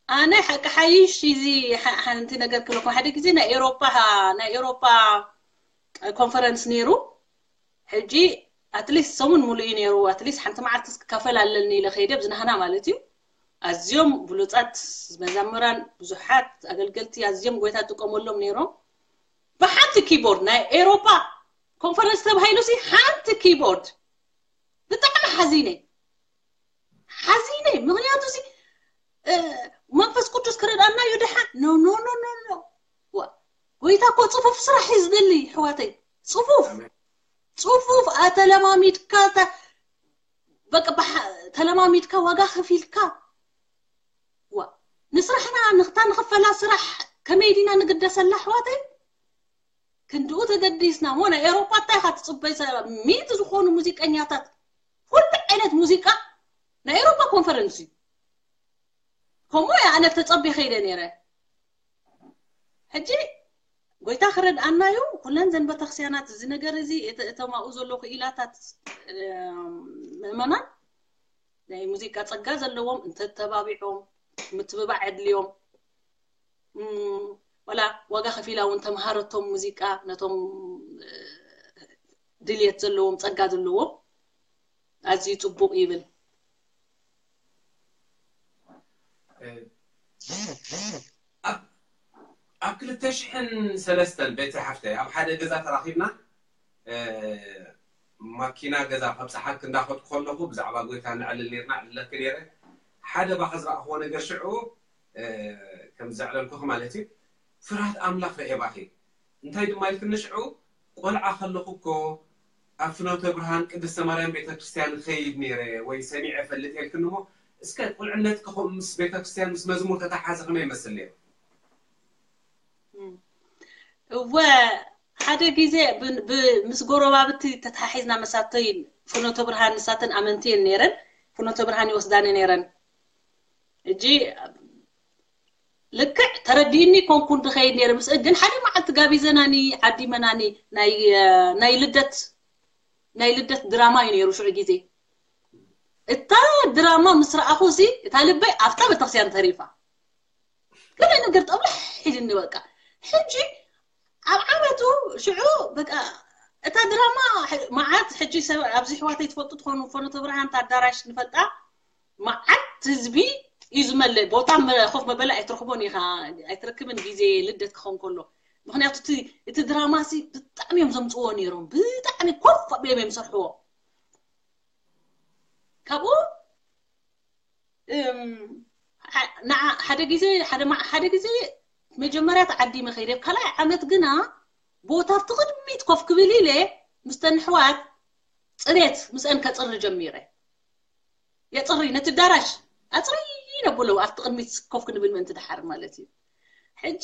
ኣነ ሓቂ ሓይሽ እዚ ሓንቲ ነገር ክለኩም ሓደ ግዜ ናይ ኤሮፓ ናይ ኤሮፓ ኮንፈረንስ ነይሩ ሕጂ ኣትሊስት ሰሙን ሙሉእ እዩ ነይሩ ኣትሊስት ሓንቲ መዓልቲ ክካፈል ኣለኒ ኢለ ከይደ ብዝናህና ማለት እዩ ኣዝዮም ብሉፃት መዛምራን ብዙሓት ኣገልገልቲ ኣዝዮም ጎይታ ጥቀመሎም ነይሮም ብሓንቲ ኪቦርድ ናይ ኤሮፓ ኮንፈረንስ ተባሂሉ ሲ ሓንቲ ኪቦርድ ብጣዕሚ ሓዚነ ሓዚነ ምክንያቱ ሲ መንፈስ ቅዱስ ክረድኣና እዩ ድሓን ኖ ኖ ኖ ኖ ኖ ጎይታ እኮ ፅፉፍ ስራሕ እዩ ዝደሊ ሕዋተይ ፅፉፍ ፅፉፍ ኣተለማሚድካ በቃ ተለማሚድካ ዋጋ ከፊልካ ዋ ንስራሕና ንክታ ንክፈላ ስራሕ ከመይ ዲና ንግደሰላ ኣሕዋተይ ክንድኡ ተገዲስና ሞ ናይ ኤሮፓ እንታይ ኢካ ትፅበይ ሚእቲ ዝኮኑ ሙዚቀኛታት ኩሉ ዓይነት ሙዚቃ ናይ ኤሮፓ ኮንፈረንስ እዩ ከምኡ እያ ኣነ ተፀቢ ከይደ ነይረ ሕጂ ጎይታ ክረድኣና እዩ ኩለን ዘን ቤተክርስቲያናት እዚ ነገር እዚ እተማኡ ዘሎ ክኢላታት ምእመናን ናይ ሙዚቃ ጸጋ ዘለዎም እንተተባቢዖም ምትብባዕ የድልዮም ወላ ዋጋ ከፊላ እውን ተምሃረቶም ሙዚቃ ነቶም ድልየት ዘለዎም ጸጋ ዘለዎም ኣዝዩ ጽቡቕ ይብል ኣብ ክልተ ሽሕን ሰለስተን ቤተ ሓፍተይ ኣብ ሓደ ገዛ ተራኺብና ማኪና ገዛ ከብፅሓክ እንዳኸድኩ ከለኹ ብዛዕባ ጎይታ ንዕልል ነርና ዕልለክ ነረ ሓደ ባኸ ዝረእኽዎ ነገር ሽዑ ከም ዘዕለልኩኺ ማለት እዩ ፍርሃት ኣምላኽ ረኤባኺ እንታይ ድማ ኢልክኒ ሽዑ ቆልዓ ከለኹ እኮ ኣብ ፍኖተ ብርሃን ቅድስተ ማርያም ቤተክርስትያን ኸይድ ነይረ ወይ ሰሚዐ ፈልጥ የልክን እሞ እስከ ቁልዕነት ክኹም ምስ ቤተክርስትያን ምስ መዝሙር ተተሓዘ ከመይ ይመስል ነይሩ? እወ ሓደ ግዜ ብ- ብ- ምስ ጎረባብቲ ተተሓሒዝና መሳተይ ፍኖተ ብርሃን ንሳተን ኣመንቲ እየን ነይረን። ፍኖተ ብርሃን ይወስዳኒ ነይረን። እጂ ልክዕ ተረዲእኒ ኮንኩን ድኸይድ ነይረ ምስ ግን ሓደ መዓልቲ ጋቢዘናኒ ዓዲመናኒ ናይ ናይ ልደት ናይ ልደት ድራማ እዩ ነይሩ ሽዑ ግዜ። እታ ድራማ ምስ ረኣኹ ሲ እታ ልበይ ኣብታ ቤተክርስትያን ተሪፋ። ገለ ነገር ጠብላሕ ኢልኒ በቃ። ሕጂ ኣብ ዓመቱ ሽዑ በቃ እታ ድራማ መዓት ሕጂ ሰብ ኣብዚ ሕዋተይ ትፈልጡ ትኾኑ ፈኖተ ብርሃን ኣዳራሽ ንፈልጣ መዓት ህዝቢ እዩ ዝመልእ። ቦታ ኮፍ መበሊ ኣይትረኽቦን ኢኻ ኣይትረክብን ግዜ ልደት ክኸውን ከሎ። ምክንያቱ እቲ ድራማ ሲ ብጣዕሚ እዮም ዘምፅዎ ነይሮም። ብጣዕሚ ኮፍ ኣቢሎም እዮም ዝሰርሕዎ። ካብኡ ሓደ ግዜ ሓደ ግዜ መጀመርያ ተዓዲመ ከይደ ካልኣይ ዓመት ግና ቦታ ኣብቲ ቅድሚት ኮፍ ክብል ኢለ ምስተን ኣሕዋት ፅሬት ምስአን ከፅሪ ጀሚረ። የፅሪ ነቲ ኣዳራሽ ኣፅሪ ነብሎ ኣብቲ ቅድሚት ኮፍ ክንብል ምእንቲ ድሓር ማለት እዩ። ሕጂ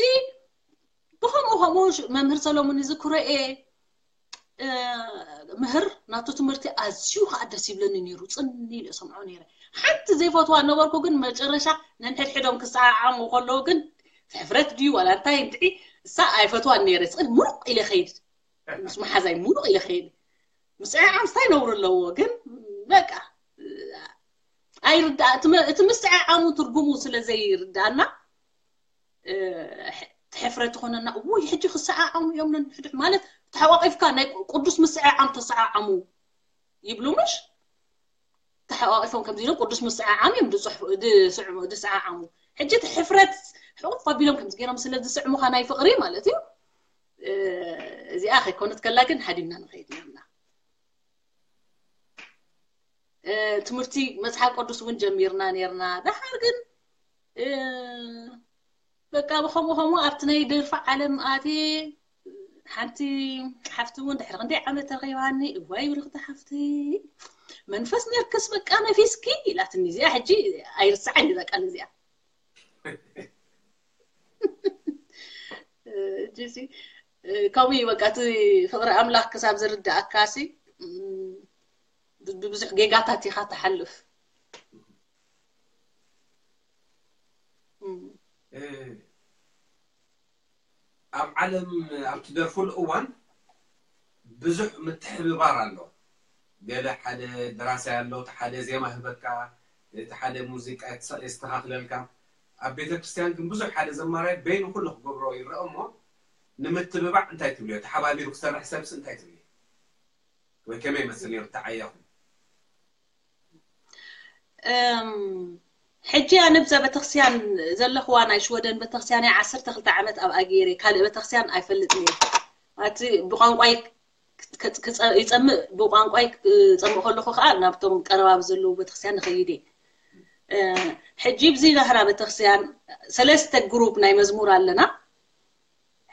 ብኸምኡ ከምኡ መምህር ሰሎሙን ዝክሮ እየ ምህር ናቱ ትምህርቲ ኣዝዩ ከዓ ደስ ይብለኒ ነይሩ። ፅን ኢለ ሰምዖ ነይረ። ሓንቲ ዘይፈትዋ ነበርኩ ግን መጨረሻ ነንሕድሕዶም ክሰዓዓሙ ከለዉ ግን ሕፍረት ድዩ ዋላ እንታይ እንድዒ እሳ ኣይፈትዋን ነይረ። ፅን ሙሩቕ ኢለ ከይድ ምስ መሓዛይ ሙሉእ ኢለ ከይድ ምስዕዓም እንታይ ነውሪ ኣለዎ ግን በቃ ኣይርዳ እቲ ምስዕዓሙ ትርጉሙ ስለ ዘይርዳና ትሕፍረ ትኾነና። ውይ ሕጂ ክሰዓዓሙ እዮም ነንሕድሕ ማለት ተሓቋቂፍካ ናይ ቅዱስ ምስዕዓም ተሰዓዓሙ ይብሉ ምሽ ተሓቋቂፎም ከምዚ ኢሎም ቅዱስ ምስዓዓም እዮም ዝስዕዓሙ። ሕጂ እቲ ሕፍረት ሕቁፍ ኣቢሎም ከምዚ ገይሮም ስለ ዝስዕሙኻ ናይ ፍቅሪ ማለት እዩ። እዚኣ ከይኮነት ከላ ግን ሃዲምና ንኸይድ ነርና። ትምህርቲ መፅሓፍ ቅዱስ እውን ጀሚርና ነርና። ደሓር ግን በቃ ብኸምኡ ከምኡ ኣብቲ ናይ ደርፊ ዓለም ኣትየ ሓንቲ ሓፍቲ እውን ድሕሪ ክንደይ ዓመት ተረኺባኒ እዋይ ብርኽቲ ሓፍቲ መንፈስ ነርክስ በቃ ነፊስኪ ኢላትኒ። እዚኣ ሕጂ ኣይርስዓን እዛ ቃል እዚኣ። እጅሲ ከምኡ እዩ በቃ እቲ ፍቅሪ ኣምላኽ ክሳብ ዝርዳእካ ሲ ብብዙሕ ጌጋታት ኢኻ ትሓልፍ። ኣብ ዓለም ኣብ ትደርፉሉ እዋን ብዙሕ ምትሕብባር ኣሎ። ገለ ሓደ ደራሳይ ኣሎ፣ እቲ ሓደ ዜማ ህበካ፣ እቲ ሓደ ሙዚቃ የስተኻኽለልካ። ኣብ ቤተ ክርስቲያን ግን ብዙሕ ሓደ ዘማራይ በይኑ ኩሉ ክገብሮ ይረአ እሞ ንምትብባዕ እንታይ ትብልዮ? ተሓባቢሩ ክሰርሕ ሰብሲ እንታይ ትብልዮ? ወይ ከመይ ይመስል ነይሩ ተዓያኹም? ሕጂ ኣነ ብዛ ቤተክርስትያን ዘለኽዋ ናይ ሽወደን ቤተክርስትያን እያ ዓሰርተ ክልተ ዓመት ኣብኣ ገይረ ካልእ ቤተክርስትያን ኣይፈልጥን እየ። እቲ ብቋንቋይ ይፀምእ ብቋንቋይ ክፀምእ ከለኹ ከዓ ናብቶም ቀረባብ ዘለዉ ቤተክርስትያን ንኸይድ እየ። ሕጂ ብዚ ናህራ ቤተክርስትያን ሰለስተ ግሩፕ ናይ መዝሙር ኣለና።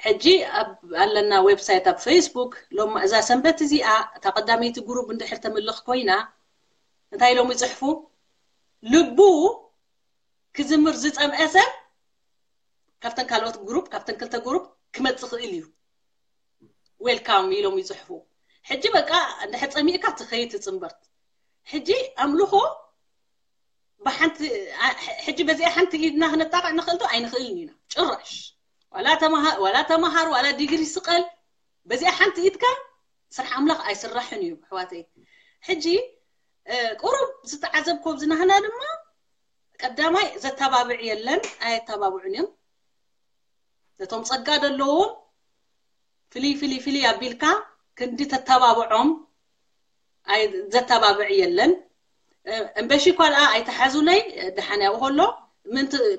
ሕጂ ኣብ ኣለና ዌብሳይት ኣብ ፌስቡክ ሎም እዛ ሰንበት እዚኣ እታ ቀዳመይቲ ግሩፕ እንድሕር ተምልኽ ኮይና እንታይ ኢሎም ይፅሕፉ? ልቡ ክዝምር ዝፀምአ ሰብ ካብተን ካልኦት ግሩፕ ካብተን ክልተ ግሩፕ ክመፅእ ክእል እዩ። ዌልካም ኢሎም ይፅሕፉ። ሕጂ በቃ እንድሕር ፀሚእካ ትኸይድ ትፅንበርት። ሕጂ ኣምልኾ ብሓንቲ ሕጂ በዚኣ ሓንቲ ኢድና ክነጣቕዕ ንኽእል ዶ? ኣይንኽእልን ኢና ጭራሽ። ዋላ ተምሃር ዋላ ዲግሪ ስቐል በዚኣ ሓንቲ ኢድካ ስራሕ ኣምላኽ ኣይስራሕን እዩ ኣሕዋተይ። ሕጂ ቁሩብ ዝተዓዘብኮ ኣብዚ ናህና ድማ ቀዳማይ ዘተባብዕ የለን፣ ኣየተባብዑን እዮም። ነቶም ጸጋ ዘለዎም ፍልይ ፍልይ ፍልይ ኣቢልካ ክንዲ ተተባብዖም ዘተባብዕ የለን። እምበሺ ኳልኣ ኣይተሓዙለይ ደሓን ያው ከሎ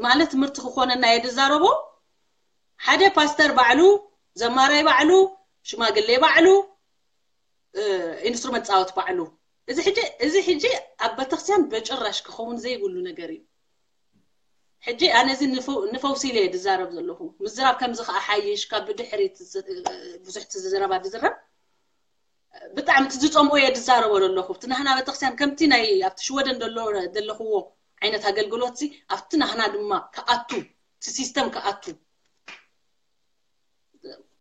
ማለት ትምህርቲ ክኾነና እየ ዝዛረቦ። ሓደ ፓስተር ባዕሉ፣ ዘማራይ ባዕሉ፣ ሽማግሌ ባዕሉ፣ ኢንስትሩመንት ፃወት ባዕሉ። እዚ ሕጂ እዚ ሕጂ ኣብ ቤተክርስትያን በጭራሽ ክኸውን ዘይብሉ ነገር እዩ። ሕጂ ኣነ እዚ ንፈውሲ ኢለ እየ ዝዛረብ ዘለኹ። ምዝራብ ከምዚ ከዓ ሓይሽ ካብ ብድሕሪት ብዙሕ ዝረባ ዝዝረብ ብጣዕሚ እቲ ዝፀምኦ እየ ዝዛረቦ ዘለኹ። እቲ ናህና ቤተክርስትያን ከምቲ ናይ ኣብቲ ሽወደን ዘለኽዎ ዓይነት ኣገልግሎት ኣብቲ ናህና ድማ ክኣቱ እቲ ሲስተም ክኣቱ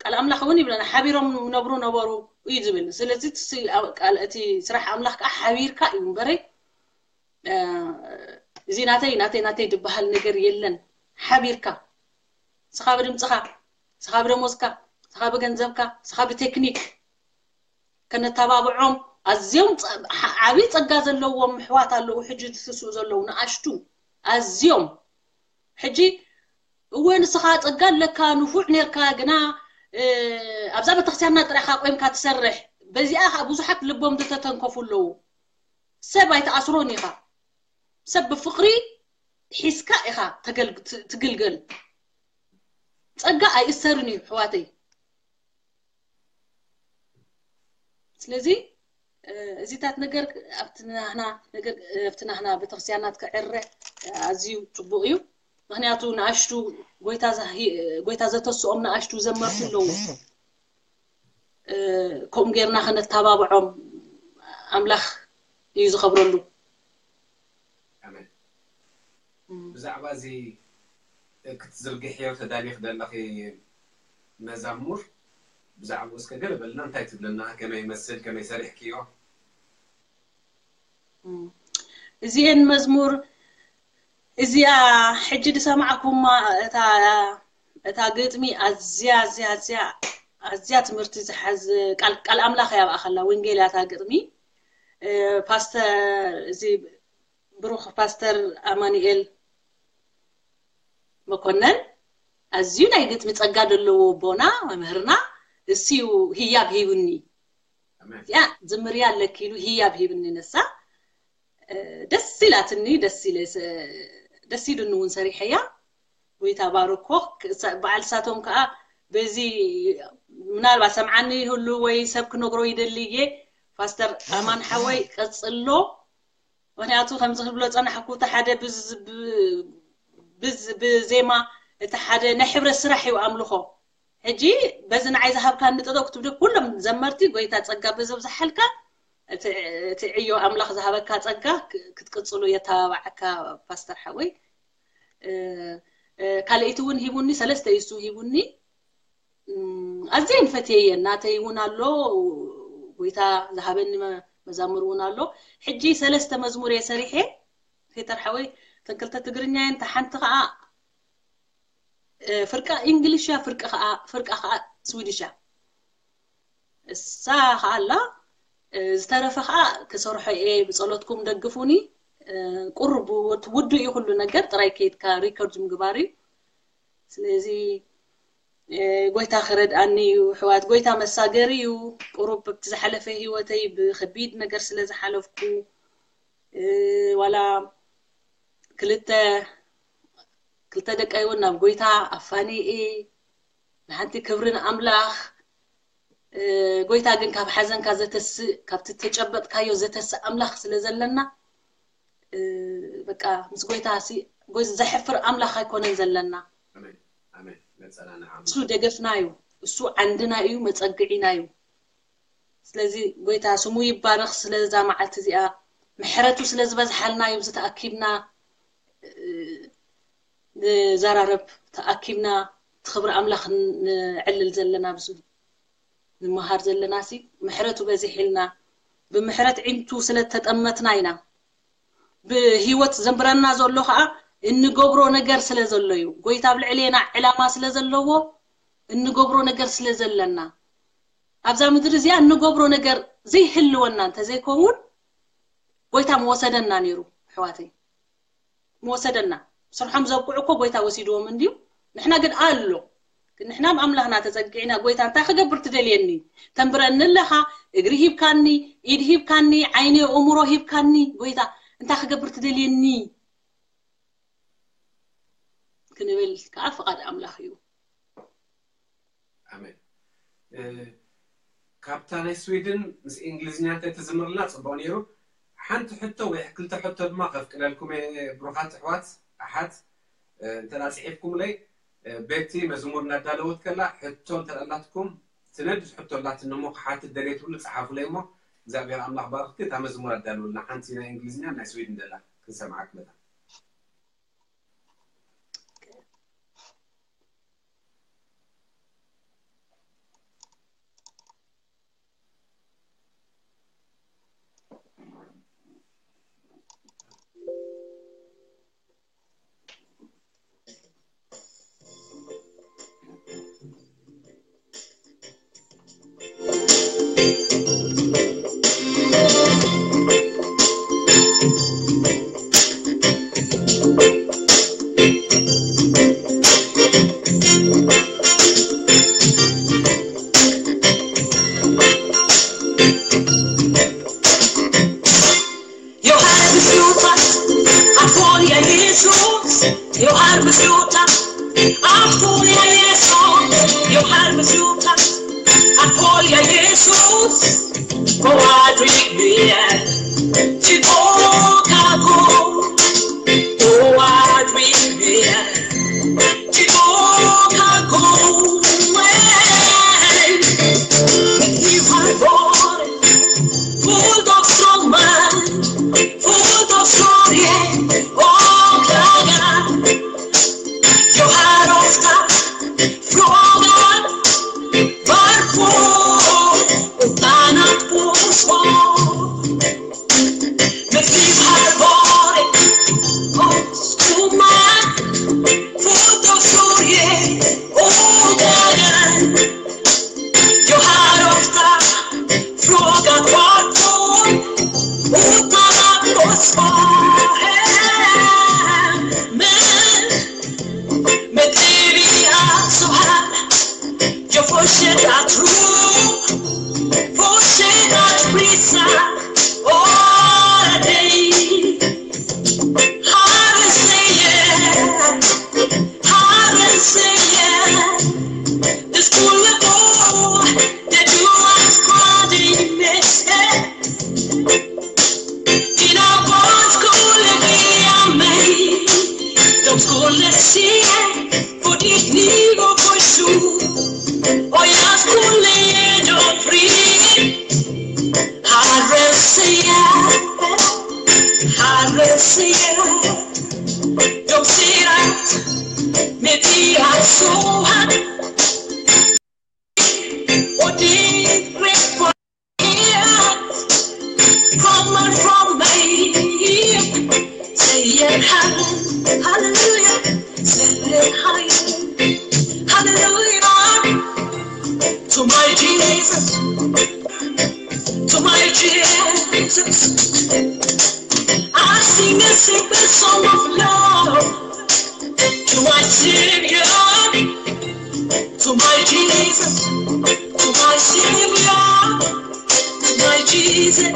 ቃል ኣምላኽ እውን ይብለና፣ ሓቢሮም ነብሩ ነበሩ እዩ ዝብል። ስለዚ እቲ ስ-፣ ኣብ ቃል፣ እቲ ስራሕ ኣምላኽ ከዓ ሓቢርካ እዩ እምበረይ፣ እ፣ እዚ ናተይ፣ ናተይ፣ ናተይ ዝበሃል ነገር የለን። ሓቢርካ፣ ስኻ ብድምፅኻ፣ ስኻ ብደሞዝካ፣ ስኻ ብገንዘብካ፣ ስኻ ብቴክኒክ ከነተባብዖም ኣዝዮም ጸ-፣ ዓ-፣ ዓብዪ ጸጋ ዘለዎም ኣሕዋት ኣለዉ። ሕጂ ዝስስኡ ዘለዉ ንኣሽቱ ኣዝዮም። ሕጂ እወ ንስኻ ጸጋ ኣለካ፣ ንፉዕ ኔርካ፣ ግና፣ እ፣ ኣብዛ ቤተክርስትያንና ጥራይ ኢኻ ቆይምካ ትሰርሕ። በዚኣ ኸኣ ብዙሓት ልቦም ዝተተንከፉ ኣለዉ። ሰብ ኣይትኣስሮን ኢኻ። ሰብ ብፍቕሪ ሒዝካ ኢኻ ተገልግ-፣ ት-፣ ትግልገል። ጸጋ ኣይእሰርን እዩ፣ ኣሕዋተይ። ስለዚ፣ እ፣ እዚታት ነገር ኣብቲ ናህና ነገር፣ እ፣ ኣብቲ ናህና ቤተክርስትያናት ክዕረ፣ እ፣ ኣዝዩ ጽቡቕ እዩ። ምኽንያቱ ንኣሽቱ ጎይታ ዛሂ-፣ ጎይታ ዘተስኦም ንኣሽቱ ዘመርቲ ኣለዉ። እ፣ ከምኡ ጌርና ከነተባብዖም ኣምላኽ እዩ ዝኸብረሉ። ኣሜን። ብዛዕባ እዚ ክትዝርግሕዮ ተዳሊኽ ዘለኺ መዛሙር፣ ብዛዕባኡ እስከ ገለ በልና፣ እንታይ ትብለና? ከመይ ይመስል? ከመይ ሰሪሕክዮ? እም፣ እዚኤን መዝሙር እዚኣ ሕጂ ዝሰማዕኩማ፣ እታ፣ እታ ግጥሚ ኣዝያ፣ ኣዝያ፣ ኣዝያ፣ ኣዝያ ትምህርቲ ዝሓዝ ቃል፣ ቃል ኣምላኽ እያ ኣብኣ ከላ፣ ወንጌል እያ እታ ግጥሚ። እ፣ ፓስተር፣ እዚ ብሩኽ ፓስተር ኣማኑኤል መኮነን ኣዝዩ ናይ ግጥሚ ጸጋ ዘለዎ ኣቦና፣ መምህርና፣ እሱ እዩ ህያብ ሂቡኒ። ኣሜን። እዚኣ ዝምርያ ኣለኪ ኢሉ ህያብ ሂብኒ ነሳ። እ፣ ደስ ኢላትኒ፣ ደስ ኢለ ሰ-፣ ደስ ኢሉኒ እውን ሰሪሐያ። ጎይታ ባርኮ። ክሳ-፣ በዓል ሳቶም ከኣ በዚ ምናልባት ሰምዓኒ ይህሉ ወይ ሰብ ክነግሮ ይደሊ እየ። ፓስተር ኣማን ሓወይ ቀጽሎ። ምኽንያቱ ከምዚ ክብሎ ጸናሕኩ፣ እቲ ሓደ ብዝ-፣ ብ-፣ ብዝ-፣ ብዜማ፣ እቲ ሓደ ናይ ሕብረት ስራሕ እዩ ኣምልኾ። ሕጂ በዚ ንዓይ ዝሃብካኒ ጠጠው ክትብሉ ኩሎም ዘመርቲ ጎይታ ጸጋ በዘብዝሓልካ፣ እቲ፣ እቲ ዕዮ ኣምላኽ ዝሃበካ ጸጋ ክ-፣ ክትቅጽሉ የተባባዓካ ፓስተር ሓወይ። እ፣ እ፣ ካልኣይቲ እውን ሂቡኒ፣ ሰለስተ እዩ እሱ ሂቡኒ። እም፣ ኣዝየን ፈትየየን። ናተይ እውን ኣሎ፣ ጎይታ ዝሃበኒ መ-፣ መዛሙር እውን ኣሎ። ሕጂ ሰለስተ መዝሙር እየ ሰሪሐ፣ ፔተር ሓወይ፣ እተን ክልተ ትግርኛ እየን፣ እታ ሓንቲ ኸዓ፣ እ፣ ፍርቃ እንግሊሽ እያ፣ ፍርቂ ኸዓ፣ ፍርቃ ኸዓ ስዊድሽ እያ። እሳ ኸዓ ኣላ፣ እ፣ ዝተረፈ ኸዓ ክሰርሖ እየ፣ ብጸሎትኩም ደግፉኒ። እ፣ ቁሩብ ውድ-፣ ውዱእ እዩ ኩሉ ነገር፣ ጥራይ ከይድካ ሪከርድ ምግባር እዩ። ስለዚ፣ እ፣ ጎይታ ክረድኣኒ እዩ፣ ኣሕዋት፣ ጎይታ መሳገሪ እዩ። ቁሩብ ብቲ ዝሓለፈ ህይወተይ ብኸቢድ ነገር ስለ ዝሓለፍኩ፣ እ፣ ዋላ ክልተ፣ ክልተ ደቀይ እውን ናብ ጎይታ ኣፋንየ፣ ንሓንቲ ክብሪ ንኣምላኽ። እ፣ ጎይታ ግን ካብ ሓዘንካ ዘተስእ፣ ካብቲ ተጨበጥካዮ ዘተስእ ኣምላኽ ስለ ዘለና፣ እ፣ በቃ ምስ ጎይታ ሲ-፣ ጎይ-፣ ዘሕፍር ኣምላኽ ኣይኮነን ዘለና። ኣሜን፣ ኣሜን። መጸናንዒ ኣምላኽ። እሱ ደገፍና እዩ፣ እሱ ዓንድና እዩ፣ መጸግዒና እዩ። ስለዚ ጎይታ ስሙ ይባረኽ ስለዛ መዓልቲ እዚኣ፣ ምሕረቱ ስለ ዝበዝሓልና እዩ፣ እዚ ተኣኪብና፣ እ፣ ንዘራረብ፣ ተኣኪብና እቲ ክብሪ ኣምላኽ ን-፣ ንዕልል ዘለና፣ ኣብዚ ንመሃር ዘለና ሲ፣ ምሕረቱ በዚሕልና፣ ብምሕረት ዒንቱ ስለ ተጠመትና ኢና። ብህይወት ዘንብረና ዘሎ ኸዓ እንገብሮ ነገር ስለ ዘሎ እዩ። ጎይታ ኣብ ልዕሌና ዕላማ ስለ ዘለዎ፣ እንገብሮ ነገር ስለ ዘለና፣ ኣብዛ ምድሪ እዚኣ እንገብሮ ነገር ዘይህልወና እንተዘይከውን፣ ጎይታ ምወሰደና ነይሩ፣ ኣሕዋተይ። ምወሰደና። ስርሖም ዘብቅዑ እኮ ጎይታ ወሲድዎም እንድዩ። ንሕና ግን ኣሎ። ግን ንሕና ኣብ ኣምላኽና ተጸጊዕና፣ ጎይታ፣ እንታይ ክገብር ትደልየኒ? ተንብረኒ ኣለኻ፣ እግሪ ሂብካኒ፣ ኢድ ሂብካኒ፣ ዓይኒ፣ ኣእምሮ ሂብካኒ፣ ጎይታ፣ እንታይ ክገብር ትደልየኒ? ክንብል ከዓ ፍቓድ ኣምላኽ እዩ። ኣሜን። እ፣ ካብታ ናይ ስዊድን ምስ እንግሊዝኛ እንተትዝምርልና ጽቡቕ ነይሩ። ሓንቲ ሕቶ ወይ ክልተ ሕቶ ድማ ከፍቅደልኩም እየ፣ ብሩኻት ኣሕዋት፣ ኣሓት፣ እ፣ እንተ ደኣ ጽሒፍኩምለይ፣ እ፣ ቤቲ መዝሙር እናዳለወት ከላ ሕቶ እንተ ደኣ ኣላትኩም፣ ትነድድ ሕቶ ኣላትኒ እሞ ክሓትት ደልየ ትብሉ ጸሓፉለይ እሞ፣ እግዚኣብሔር ኣምላኽ ባርኽቲ። እታ መዝሙር ኣዳልውልና፣ ሓንቲ ናይ እንግሊዝኛ ናይ ስዊድን ደላ ክንሰምዓ ክመታ። Apol ya Jesus, yo har mi sluta. Apol ya Jesus, go adri bien. Ti boka go, go adri bien. Ti boka go, eh. Ni har varit full of strong man, full of glory, oh God. Yo har ofta frågat varför utan att få svar. Mitt liv har varit omskummat, fullt av sorger och dagar. Jag har ofta frågat varför utan att få svar. Men mitt liv är så här. Jag fortsätter att tro, fortsätter att prisa. All day. Herren säger, Herren säger, det skulle gå, det du önskar dig mest. Dina barn skulle vilja mig, de skulle se på ditt liv och på jord. Och jag skulle ge dem frid. Herren säger, Herren säger, de ser att mitt liv är så här. Och det är rätt för kommer från mig. Säger Herren, halleluja, säger Herren, halleluja. To my Jesus, to my Jesus, I sing a simple song of love to my Savior, to my Jesus, to my Savior, to my Jesus.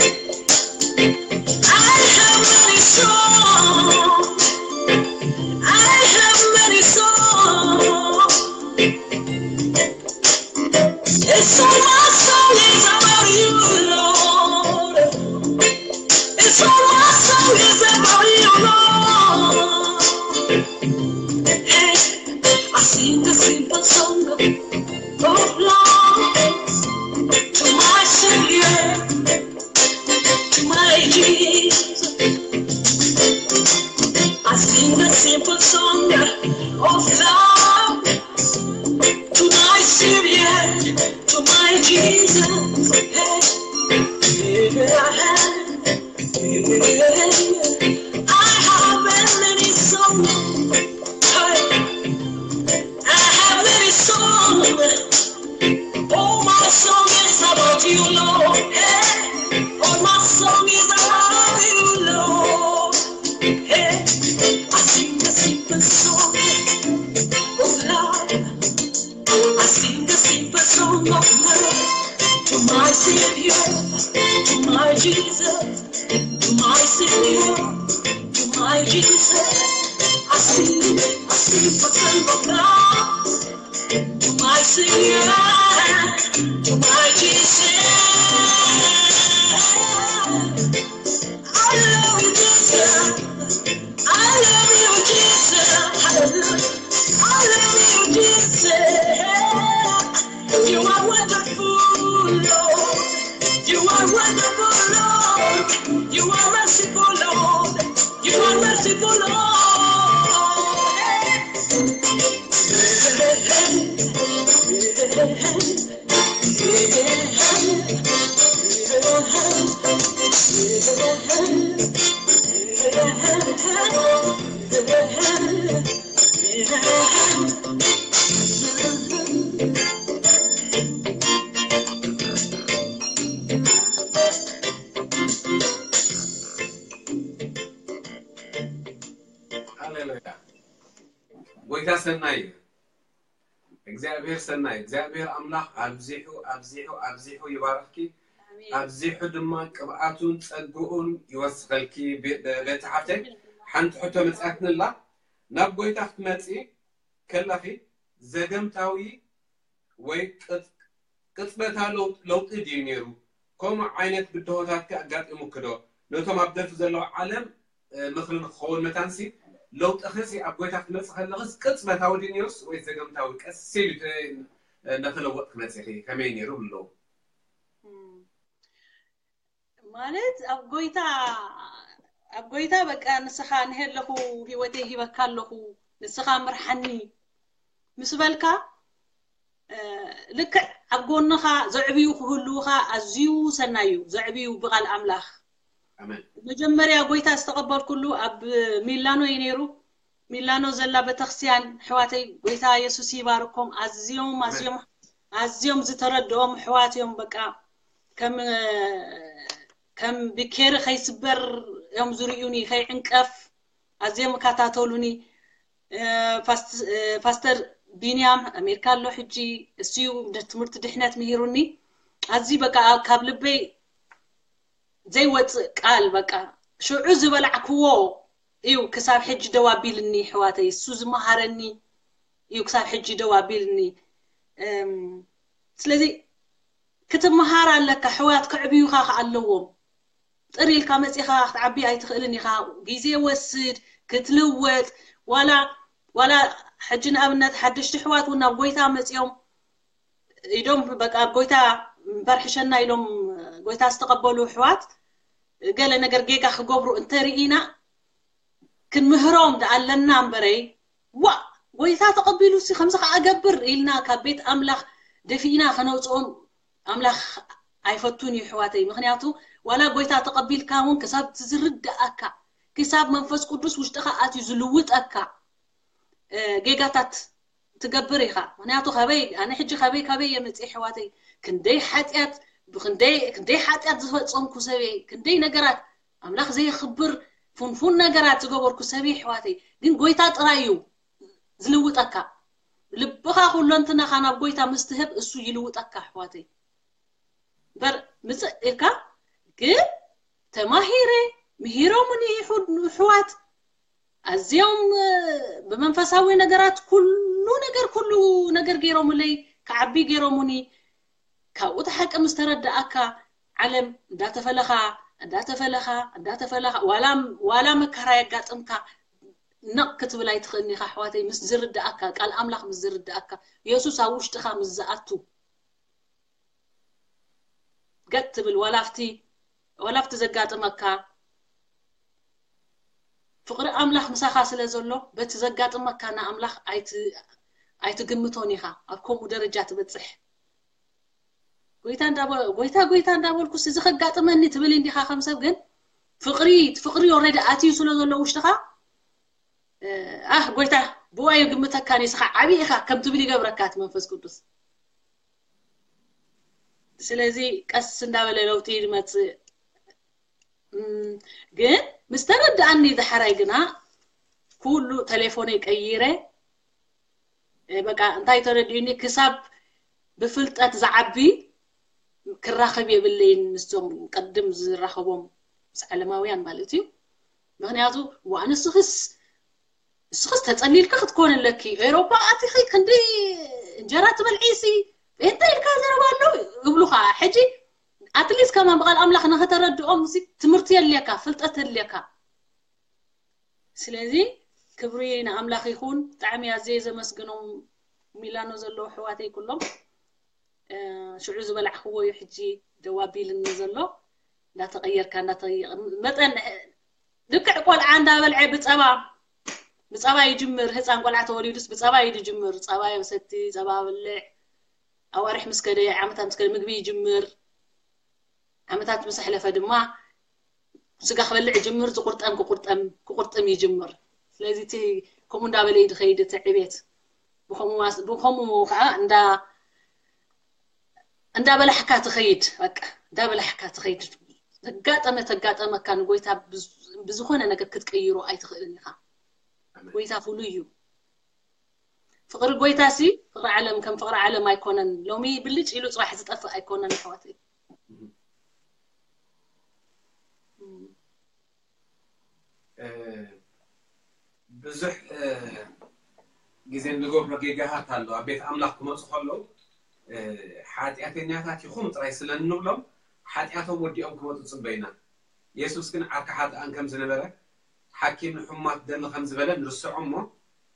I have many songs. I have many songs. It's all my song is about you, Lord. It's all my song is about you, Lord. Hey, I sing a simple song of love to my Savior, to my Jesus. I sing a simple song of love to my Savior, to my Jesus. Hey, yeah. I have many songs. Hey, I have many songs. All my song is about you, Lord. Hey, all my song is about you, Lord. Hey, I sing a simple song of love. I sing a simple song of love to my Savior, to my Jesus, to my Savior. To my Jesus, I sing, I sing for some of God. To my Savior, to my Jesus. I love you, Jesus. I love you, Jesus. Hallelujah. I love you, Jesus. You are wonderful, Lord. You are wonderful, Lord. You are merciful, Lord. You are merciful, Lord. ሃሌሉያ። ጎይታ ሰናይ እዩ። እግዚኣብሔር ሰናይ፣ እግዚኣብሔር ኣምላኽ ኣብዚሑ ኣብዚሑ ኣብዚሑ ይባርኽኪ። ኣብዚሑ ድማ ቅብኣቱን ጸግኡን ይወስኸልኪ። ቤ- ቤቲ ሓፍተይ፣ ሓንቲ ሕቶ መጽኣትንላ። ናብ ጎይታ ክትመጺ ከለኺ ዘገምታዊ ወይ ቅጽ- ቅጽበታዊ ለውጢ ድዩ ነይሩ? ከምኡ ዓይነት ብድሆታት ከ ኣጋጢሙኪ ዶ? ነቶም ኣብ ደርፊ ዘለዉ ዓለም ምኽሪ ንክኸውን መታንሲ፣ ለውጥኽሲ ኣብ ጎይታ ክትመጽእ ከለኽስ ቅጽበታዊ ድዩ ነይሩስ ወይ ዘገምታዊ ቀስ ኢሉ እናተለወጥኪ መጺኺ? ከመይ ነይሩ ብለዉ? ማለት ኣብ ጎይታ ኣብ ጎይታ በቃ ንስኻ ንሄ ኣለኹ፣ ህይወተይ ሂበካ ኣለኹ፣ ንስኻ ምርሓኒ ምስ በልካ፣ ልክዕ ኣብ ጎንኻ ዘዕብዩ ክህልውኻ ኣዝዩ ሰናይ እዩ። ዘዕብዩ ብቓል ኣምላኽ። መጀመርያ ጎይታ ዝተቐበልኩሉ ኣብ ሚላኖ እዩ ነይሩ። ሚላኖ ዘላ ቤተክርስትያን ኣሕዋተይ፣ ጎይታ የሱስ ይባርኮም። ኣዝዮም ኣዝዮም ኣዝዮም ዝተረድኦም ኣሕዋት እዮም። በቃ ከም ከም ብኬሪ ከይስበር እዮም ዝርእዩኒ፣ ከይዕንቀፍ ኣዝዮም ይከታተሉኒ። ፓስተር ቢንያም ኣሜሪካ ኣሎ ሕጂ፣ እሱ እዩ ትምህርቲ ድሕነት ምሂሩኒ። ኣዝዩ በቃ ካብ ልበይ ዘይወፅእ ቃል፣ በቃ ሽዑ ዝበላዕክዎ እዩ ክሳብ ሕጂ ደው ኣቢልኒ። ኣሕዋተይ፣ እሱ ዝመሃረኒ እዩ ክሳብ ሕጂ ደው ኣቢልኒ። ስለዚ ክትመሃር ኣለካ። ኣሕዋት ከዕብዩኻ ከ ኣለዎም። ጥር ኢልካ መፂኻ ክትዓቢ ኣይትኽእልን ኢኻ። ግዜ ወስድ ክትልወጥ። ዋላ ዋላ ሕጂ ንኣብነት ሓደሽቲ ኣሕዋት እውን ናብ ጎይታ መፂኦም ኢዶም በቃ ኣብ ጎይታ በርሕሸና ኢሎም ጎይታ ዝተቐበሉ ኣሕዋት ገለ ነገር ጌጋ ክገብሩ እንተርኢና ክንምህሮም ደኣ ኣለና እምበረይ፣ ዋ ጎይታ ተቐቢሉ ሲ ከምዚ ከዓ እገብር ኢልና ካብ ቤት ኣምላኽ ደፊእና ከነውፅኦም ኣምላኽ ኣይፈቱን እዩ ኣሕዋተይ። ምክንያቱ ዋላ ጎይታ ተቐቢልካ እውን ክሳብ ዝርድኣካ፣ ክሳብ መንፈስ ቅዱስ ውሽጥኻ ኣትዩ ዝልውጠካ ጌጋታት ትገብር ኢኻ። ምክንያቱ ከበይ ኣነ ሕጂ ከበይ ከበይ እየ መፅእ ኣሕዋተይ፣ ክንደይ ሓጢኣት ብክንደይ ክንደይ ሓጢኣት ዝፈፀምኩ ሰበይ፣ ክንደይ ነገራት ኣምላኽ ዘየኽብር ፉንፉን ነገራት ዝገበርኩ ሰበይ ኣሕዋተይ። ግን ጎይታ ጥራይ እዩ ዝልውጠካ። ልብኻ ኩለንትናኻ ናብ ጎይታ ምስ ትህብ እሱ ይልውጠካ ኣሕዋተይ። በር ምፅእ ኢልካ ግን ተማሂረ ምሂሮምኒ ኣሕዋት ኣዝዮም ብመንፈሳዊ ነገራት ኩሉ ነገር ኩሉ ነገር ገይሮምለይ ክዓቢ ገይሮምኒ። ካብኡ እቲ ሓቂ ምስ ተረዳኣካ ዓለም እንዳተፈለኻ እንዳተፈለኻ እንዳተፈለኻ ዋላ ዋላ መከራ የጋጥምካ ነቕ ክትብል ኣይትኽእልን ኢኻ ኣሕዋተይ። ምስ ዝርዳኣካ ቃል ኣምላኽ ምስ ዝርዳኣካ የሱስ ኣብ ውሽጥኻ ምስ ዝኣቱ ገጥ ትብል ዋላ ኣብቲ ዋላ ኣብቲ ዘጋጥመካ ፍቕሪ ኣምላኽ ምሳኻ ስለ ዘሎ በቲ ዘጋጥመካ ንኣምላኽ ኣይትግምቶን ኢኻ። ኣብ ከምኡ ደረጃ ትበፅሕ። ጎይታ ጎይታ ጎይታ እንዳበልኩስ እዚ ከጋጥመኒ ትብል እንዲኻ ከም ሰብ ግን ፍቕሪ ፍቕሪ ኦልሬዲ ኣትዩ ስለ ዘሎ ውሽጥኻ ኣህ ጎይታ ብኡ ኣይግምተካን እዩ፣ ንስኻ ዓብዪ ኢኻ ከም ትብል ይገብረካ እቲ መንፈስ ቅዱስ። ስለዚ ቀስ እንዳበለ ለውጢ ይመፅእ። ግን ምስ ተረድኣኒ ዳሕራይ ግና ኩሉ ቴሌፎነይ ቀይረ በቃ እንታይ ተረዲኡኒ ክሳብ ብፍልጠት ዝዓቢ ክራኸብ የብለይን ምስቶም ቅድም ዝራኸቦም ምስ ዓለማውያን ማለት እዩ። ምክንያቱ ዋ ንስኽስ ንስኽስ ተፀሊልካ ክትኮን ኣለኪ ኤሮፓ ኣቲኺ ክንዲ እንጀራ ትበልዒ ሲ ጴንጠ ኢልካ ዘረባ ኣሎ ይብሉኻ። ሕጂ ኣትሊስት ከማን ብቃል ኣምላኽ ንክተረድኦም ትምህርቲ የድልየካ ፍልጠት የድልየካ። ስለዚ ክብሪ ንኣምላኽ ይኹን። ብጣዕሚ ኣዝየ ዘመስግኖም ሚላኖ ዘለዉ ኣሕዋተይ ኩሎም። ሽዑ ዝበላዕክዎ እዩ ሕጂ ደው ኣቢልኒ ዘሎ። እንዳተቐየርካ እንዳተቐየር መጠን ልክዕ ቆልዓ እንዳበልዐ ብፀባ ብፀባ ይጅምር። ህፃን ቆልዓ ተወሊዱስ ብፀባ እዩ ዝጅምር። ፀባ የሰቲ፣ ፀባ በልዕ። ኣዋርሕ ምስ ከደ ዓመታት ምስ ከደ ምግቢ ይጅምር። ዓመታት ምስ ኣሕለፈ ድማ ስጋ ክበልዕ ይጅምር። ዝቁርጠም ክቁርጠም ክቁርጥም ይጅምር። ስለዚ እቲ ከምኡ እንዳበለ እዩ ዝኸይድ እቲ ዕቤት። ብከምኡ ከዓ እንዳ እንዳበላሕካ ትኸይድ በቃ እንዳበላሕካ ትኸይድ። ተጋጠመ ተጋጠመካ ንጎይታ ብዝኾነ ነገር ክትቀይሮ ኣይትኽእልን ኢኻ። ጎይታ ፍሉይ እዩ። ፍቕሪ ጎይታ ሲ ፍቕሪ ዓለም ከም ፍቕሪ ዓለም ኣይኮነን። ሎሚ ብልጭ ኢሉ ፅባሕ ዝጠፍእ ኣይኮነን ኣሕዋተይ። ብዙሕ ግዜ እንገብሮ ጌጋታት ኣሎ። ኣብ ቤት ኣምላኽ ክመፁ ከለዉ፣ እ፣ ሓጢኣተኛታት ኢኹም ጥራይ ስለ እንብሎም፣ ሓጢኣቶም ወዲኦም ክመፁ ጽበይና። የሱስ ግን ዓርኪ ሓጥኣን ከም ዝነበረ፣ ሓኪም ንሕሙማት ደሊ ከም ዝበለ ንርስዖ እሞ፣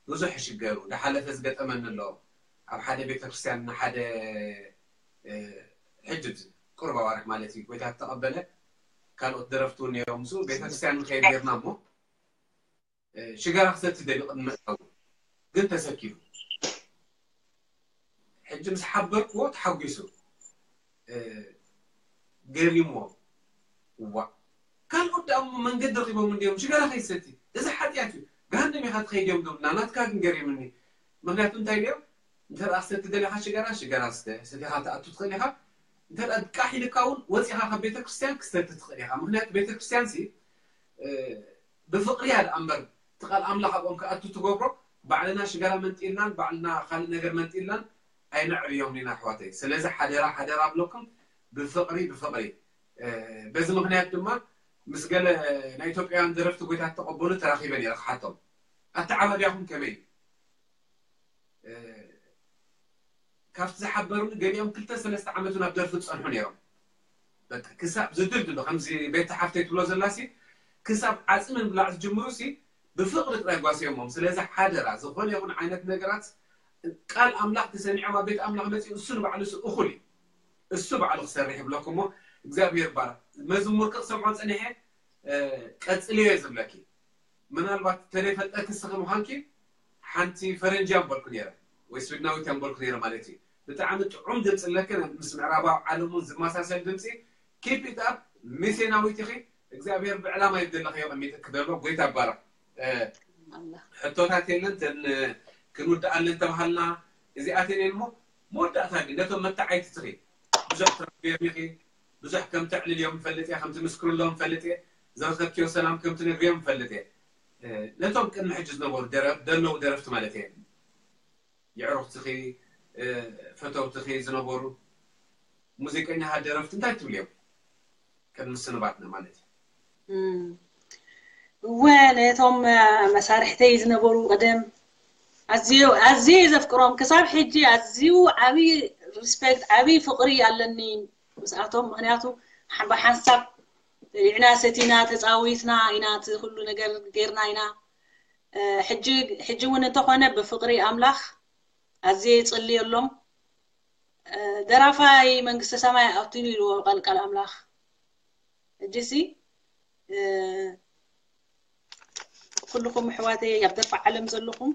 ብዙሕ ይሽገሩ። ዝሓለፈ ዝገጠመኒ ኣሎ። ኣብ ሓደ ቤተክርስትያን ንሓደ፣ እ፣ ሕጂ ቁሩብ ኣዋርሕ ማለት እዩ፣ ጎይታ ዝተቐበለ፣ ካልኦት ደረፍቲ እውን ነይሮም። ምስኡ ቤተክርስትያን ንኸይድ ጌርና እሞ፣ እ፣ ሽጋራ ክሰቲ ደልዩ ቅድሚ ምእታዉ ግን ተሰኪፉ። ሕጂ ምስ ሓበርክዎ ተሓጒሱ፣ እ፣ ገሪምዎ። እዋእ፣ ካልኦት ደኣ እሞ መንገዲ ረኺቦም እንድዮም ሽጋራ ከይሰቲ። እዚ ሓጢኣት እዩ። ገሃነም ኢኻ ትኸይድ እዮም ዝብሉና። ናትካ ግን ገሪምኒ። ምኽንያቱ እንታይ ድዮም? እንተ ደኣ ክሰቲ ደሊኻ ሽጋራ፣ ሽጋራ ስተ። ሰቲኻ ትኣቱ ትኽእል ኢኻ። እንተ ደኣ ቃሕ ኢልካ እውን ወጺኻ ካብ ቤተ ክርስቲያን ክሰቲ ትኽእል ኢኻ። ምኽንያቱ ቤተ ክርስቲያን ሲ፣ እ፣ ብፍቕሪ እያ ደኣ እምበር፣ እቲ ቃል ኣምላኽ ኣብኦም ክኣቱ ትገብሮ፣ ባዕልና ሽጋራ መንጢልናን፣ ባዕልና ካልእ ነገር መንጢልናን ኣይነዕብዮም ኢና ኣሕዋተይ። ስለዚ ሓደራ፣ ሓደራ ኣብለኩም፣ ብፍቕሪ፣ ብፍቕሪ። እ፣ በዚ ምኽንያት ድማ ምስ ገለ ናይ ኢትዮጵያውያን ደረፍቲ ጎይታ እተቐበሉ ተራኺበ ነይረ ክሓቶም። ኣተዓባብያኹም ከመይ እዩ? እ፣ ካብቲ ዝሓበሩኒ ገሊኦም ክልተ ሰለስተ ዓመት እውን ኣብ ደርፊ ዝጸንሑ ነይሮም። በቃ ክሳብ ዝድልድሉ፣ ከምዚ ቤት ሓፍተይ ትብሎ ዘላሲ፣ ክሳብ ዓጽሚ ምብላዕ ዝጅምሩሲ ብፍቕሪ ጥራይ ጓስዮሞም። ስለዚ ሓደራ፣ ዝኾነ ይኹን ዓይነት ነገራት ቃል ኣምላኽ ተሰሚዖም ኣብ ቤት ኣምላኽ መጺኡ እሱ ንባዕሉ እሱ እኹል እዩ። እሱ ባዕሉ ክሰርሕ ይብለኩም እሞ እግዚኣብሔር ይባረክ። መዝሙር ክሰምዖ ጸኒሐ፣ እ፣ ቀጽልዮ እየ ዝብለኪ። ምናልባት ተደይፈልጠኪ እስኺ ምዃንኪ ሓንቲ ፈረንጂ እያ ምበልኩ ነይረ፣ ወይ ስዊድናዊት እያ ምበልኩ ነይረ ማለት እዩ። ብጣዕሚ ጥዑም ድምፂ ኣለኪ፣ ምስ ምዕራባዊ ዓለም እውን ዝመሳሰል ድምፂ። Keep it up፣ ሚስዮናዊት ኢኺ። እግዚኣብሔር ብዕላማ እዩ ዘለኺ ቀሚጥኪ ዘሎ። ጎይታ ይባረክ። እ፣ ኣላ። ሕቶታት የለን፣ ተን ክንውድኣለን ተባሃልና እዚኣተን እየን እሞ፣ መወዳእታ ግን ነቶም መተዓይቲ ትኺ ብዙሕ ትረክብዮም ኢኺ፣ ብዙሕ ከም ተዕልልዮም እፈልጥ እየ፣ ከም ትምስክርሎም እፈልጥ እየ፣ ዝረኸብክዮ ሰላም ከም ትነግርዮም እፈልጥ እየ። እ፣ ነቶም ቅድሚ ሕጂ ዝነበሩ ደረ-፣ ዘለዉ ደረፍቲ ማለት እየ፣ የዕሩኽትኺ፣ እ፣ ፈተውትኺ ዝነበሩ ሙዚቀኛታት ደረፍቲ እንታይ ትብልዮም? ቅድሚ ስንባትና ማለት እዩ። እም። እወ፣ ነቶም፣ እ፣ መሳርሕተይ ዝነበሩ ቀደም ኣዝዩ፣ ኣዝየ ዘፍቅሮም፣ ክሳብ ሕጂ ኣዝዩ ዓብዪ ሪስፔክት፣ ዓብዪ ፍቕሪ ኣለኒ ምስኣቶም። ምኽንያቱ ሓ-፣ ብሓንሳብ በሊዕና፣ ሰቲና፣ ተጻዊትና ኢና፣ እቲ ኩሉ ነገር ጌርና ኢና። እ፣ ሕጂ፣ ሕጂ እውን እንተኾነ ብፍቕሪ ኣምላኽ ኣዝየ ይጽልየሎም። እ፣ ደራፋይ መንግስተ ሰማይ ኣቱን ኢልዎ ቃል፣ ቃል ኣምላኽ። ሕጂሲ፣ እ፣ ኩልኹም ኣሕዋተይ ኣብ ደፋ ዓለም ዘለኹም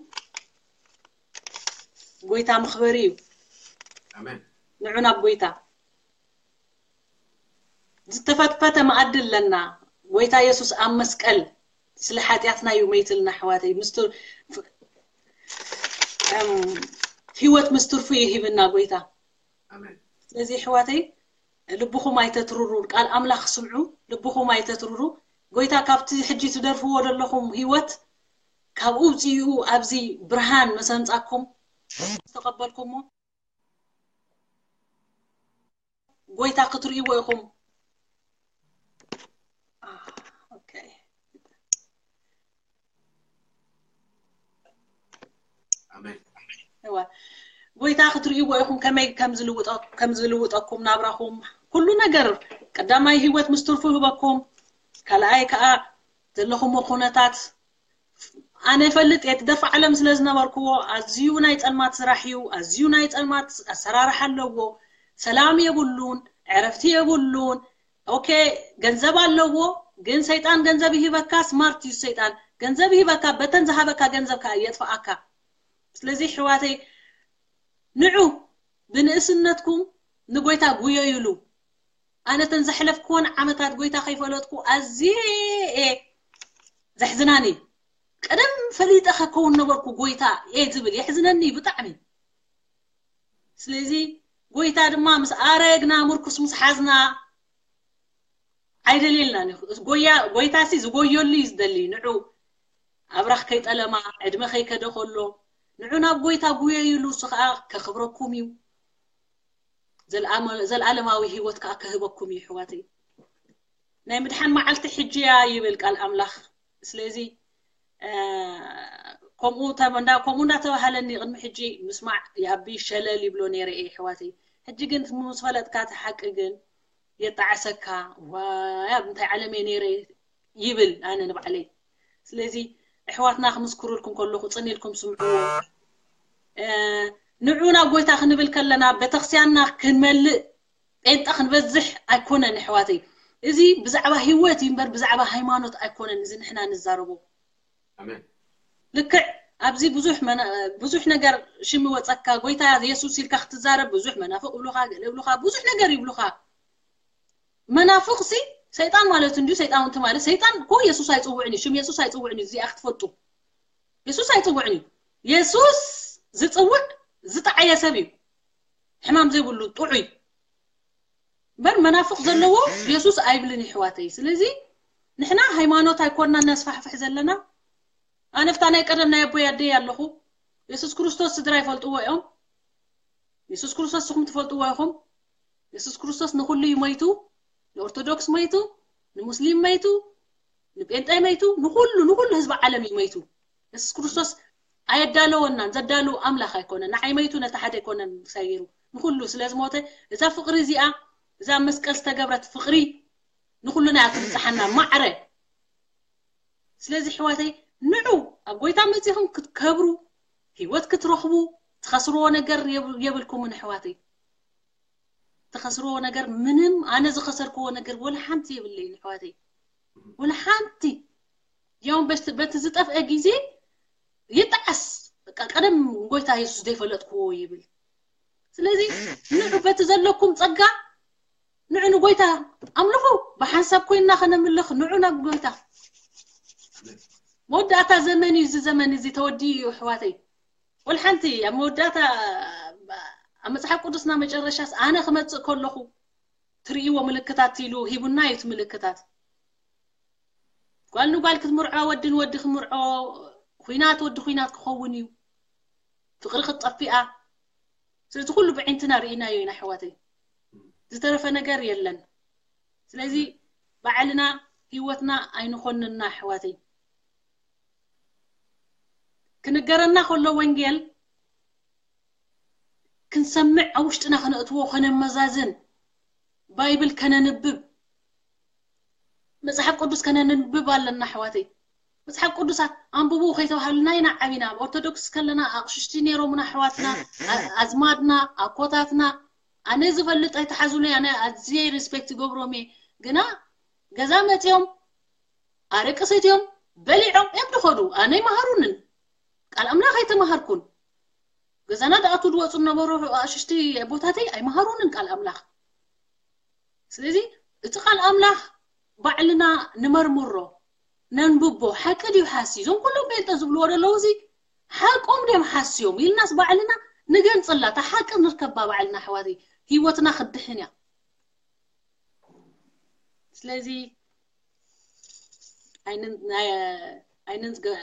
ጎይታ መኽበሪ እዩ። ኣሜን። ንዑ ናብ ጎይታ። ዝተፈትፈተ መኣዲ ኣለና። ጎይታ የሱስ ኣብ መስቀል ስለ ሓጢኣትና እዩ መይትልና ኣሕዋተይ። ምስ ቱ-፣ ፍ-፣ እም፣ ህይወት ምስ ትርፉ ይህብና ጎይታ። ኣሜን። ስለዚ ኣሕዋተይ ልብኹም ኣይተትርሩ፣ ቃል ኣምላኽ ስምዑ፣ ልብኹም ኣይተትርሩ። ጎይታ ካብቲ ሕጂ ትደርፍዎ ዘለኹም ህይወት ካብኡ ውፅኡ ኣብዚ ብርሃን መሰንጻኩም ዝተቐበልኩሞ ጎይታ ክትርእይዎ ኢኹም። አ፣ ኦኬ። ኣሜን። እወ። ጎይታ ክትርእይዎ ኢኹም ከመይ ከም ዝልውጠ-፣ ከም ዝልውጠኩም ናብራኹም። ኩሉ ነገር ቀዳማይ ህይወት ምስ ትርፉ ይህበኩም። ካልኣይ ከኣ ዘለኹሞ ኩነታት ኣነ እፈልጥ እየ፣ እቲ ደፋ ዓለም ስለ ዝነበርክዎ፣ ኣዝዩ ናይ ጸልማት ስራሕ እዩ፣ ኣዝዩ ናይ ጸልማት ኣሰራርሓ ኣለዎ። ሰላም የብሉን፣ ዕረፍቲ የብሉን። ኦኬ፣ ገንዘብ ኣለዎ፣ ግን ሰይጣን ገንዘብ ይህበካ፣ ስማርት እዩ ሰይጣን። ገንዘብ ይህበካ፣ በተን ዝሃበካ ገንዘብ ከኣ የጥፍኣካ። ስለዚ ኣሕዋተይ፣ ንዑ ብንእስነትኩም ንጎይታ ጉየዩሉ። ኣነ እተን ዘሕለፍክወን ዓመታት ጎይታ ከይፈለጥኩ ኣዝየ እየ ዘሕዝናኒ። ቀደም ፈሊጠ ከከውን ነበርኩ ጎይታ እየ ዝብል፣ የሕዝነኒ ብጣዕሚ። ስለዚ ጎይታ ድማ ምስ ኣረግና፣ ምርኩስ ምስ ሓዝና ኣይደልየልናን እዩ። ጎያ-፣ ጎይታሲ ዝጎየሉ እዩ ዝደሊ። ንዑ ኣብራኽ ከይጠለማ፣ ዕድመ ከይከደ ከሎ፣ ንዑ ናብ ጎይታ ጉየዩሉ፣ እሱ ኸኣ ከኽብረኩም እዩ። ዘልኣመ-፣ ዘልኣለማዊ ህይወት ከኣ ክህበኩም እዩ፣ ኣሕዋተይ። ናይ ምድሓን መዓልቲ ሕጂ እያ ይብል ቃል ኣምላኽ። ስለዚ፣ እ፣ ከምኡ ተብ- እንዳ ከምኡ እንዳተባሃለኒ ቅድሚ ሕጂ ምስማዕ ይኣቢ ሸለል ይብሎ ነይረ እየ ኣሕዋተይ። ሕጂ ግን ምስ ፈለጥካ እቲ ሓቂ ግን የጣዕሰካ። ዋይ ኣብ እንታይ ዓለም እየ ነይረ ይብል ኣነ ንባዕለይ። ስለዚ ኣሕዋትና ክምስክሩልኩም ከለኹ ጽን ኢልኩም ስምዕዎ። ንዑ ናብ ጎይታ ክንብል ከለና ቤተክርስቲያንና ክንመልእ ጴንጣ ክንበዝሕ ኣይኮነን ኣሕዋተይ። እዚ ብዛዕባ ህይወት እዩ እምበር ብዛዕባ ሃይማኖት ኣይኮነን። እዚ ንሕና ንዛረቦ ኣሜን። ልክዕ ኣብዚ ብዙሕ መና- ብዙሕ ነገር ሽም ይወፀካ። ጎይታ የሱስ ኢልካ ክትዛረብ ብዙሕ መናፍቅ ይብሉካ፣ ገለ ይብሉካ፣ ብዙሕ ነገር ይብሉካ። መናፍቅ ሲ ሰይጣን ማለት እንዲሁ ሰይጣን እንት ማለት ሰይጣን እኮ የሱስ ኣይፅውዕን እዩ። ሽም የሱስ ኣይፅውዕን እዩ። እዚኣ ክትፈጡ የሱስ ኣይፅውዕን እዩ። የሱስ ዝፅውዕ ዝጠዓየ ሰብ እዩ፣ ሕማም ዘይብሉ ጥዑይ። እምበር መናፍቅ ዘለዎ የሱስ ኣይብልን ይሕዋተይ። ስለዚ ንሕና ሃይማኖት ኣይኮንና ነስፋሕፍሕ ዘለና። ኣነፍታ ናይ ቀደም ናይ ኣቦይ ኣደይ ኣለኹ። የሱስ ክርስቶስ ስድራ ይፈልጥዎ እዮም። የሱስ ክርስቶስ ንስኹም ትፈልጥዎ ኢኹም። የሱስ ክርስቶስ ንኹሉ እዩ መይቱ። ንኦርቶዶክስ መይቱ፣ ንሙስሊም መይቱ፣ ንጴንጤ መይቱ፣ ንኹሉ ንኹሉ ህዝቢ ዓለም እዩ መይቱ። የሱስ ክርስቶስ ኣየዳለወናን ዘዳልው ኣምላኽ ኣይኮነን። ንዓይ መይቱ ነቲ ሓደ ኣይኮነን ሰይሩ ንኹሉ ስለ ዝሞተ እዛ ፍቕሪ እዚኣ እዛ ኣብ መስቀል ዝተገብረት ፍቕሪ ንኹሉና እያ ትብጽሓና ማዕረ። ስለዚ ኣሕዋተይ ንዑ ኣብ ጎይታ መጺኹም ክትከብሩ ህይወት ክትረኽቡ ትኸስርዎ ነገር የብ- የብልኩምን ኣሕዋተይ። ትኸስርዎ ነገር ምንም ኣነ ዝኸሰርክዎ ነገር ወላ ሓንቲ የብለይን ኣሕዋተይ። ወላ ሓንቲ ያውን በቲ በቲ ዝጠፍአ ግዜ ይጠዓስ። በቃ ቀደም ጎይታ የሱስ ዘይፈለጥክዎ ይብል። ስለዚ ንዑ በቲ ዘለኩም ጸጋ ንዑ ንጎይታ ኣምልኹ። ብሓንሳብ ኮይንና ከነምልኽ ንዑ ናብ ጎይታ። መወዳእታ ዘመን እዩ እዚ ዘመን እዚ ተወዲኡ እዩ ኣሕዋተይ። ወላ ሓንቲ ኣብ መወዳእታ ኣብ መጽሓፍ ቅዱስና መጨረሻስ ኣነ ክመጽእ ከለኹ ትርእይዎ ምልክታት ኢሉ ሂቡና እዩ እቲ ምልክታት። ጓል ንጓል ክትምርዖ ወዲ ንወዲ ክምርዖ ኩናት ወዲ ኩናት ክኸውን እዩ። ፍቕሪ ክትጠፊኣ ስለዚ ኩሉ ብዒንትና ርኢናዮ ኢና ኣሕዋተይ። ዝተረፈ ነገር የለን። ስለዚ ባዕልና ህይወትና ኣይንኾንና ኣሕዋተይ። ክንገረና ከሎ ወንጌል ክንሰምዕ ኣብ ውሽጥና ከነእትዎ ከነመዛዝን ባይብል ከነንብብ መጽሓፍ ቅዱስ ከነንብብ ኣለና ኣሕዋተይ። መጽሓፍ ቅዱስ ኣንብቡ ከይተባሃሉና ኢና ዓቢና። ኣብ ኦርቶዶክስ ከለና ኣቕሽሽቲ ነይሮምና ኣሕዋትና፣ ኣ- ኣዝማድና፣ ኣኮታትና። ኣነ ዝፈልጥ ኣይተሓዙለይ፣ ኣነ ኣዝየ ሪስፔክት ይገብሮም እየ። ግና ገዛ መፅዮም ኣረቂ ሰትዮም በሊዖም እዮም ዝኸዱ። ኣነ ኣይመሃሩንን፣ ቃል ኣምላኽ ኣይተማሃርኩን። ገዛና ደኣቱ ዝወፁ ዝነበሩ ኣሽሽቲ ኣቦታተይ ኣይመሃሩንን ቃል ኣምላኽ። ስለዚ እቲ ቃል ኣምላኽ ባዕልና ንመርምሮ፣ ነንብቦ። ሓቂ ድዩ ሓሲ? እዞም ኩሎም ጴንጠ ዝብልዎ ዘለዉ እዚ ሓቆም ድዮም ሓስዮም ኢልናስ ባዕልና ንገንፅላ፣ እታ ሓቂ ንርከባ ባዕልና ኣሕዋተይ። ህይወትና ክድሕን እያ። ስለዚ ኣይንን- ናይ- ኣይንን ዝገ-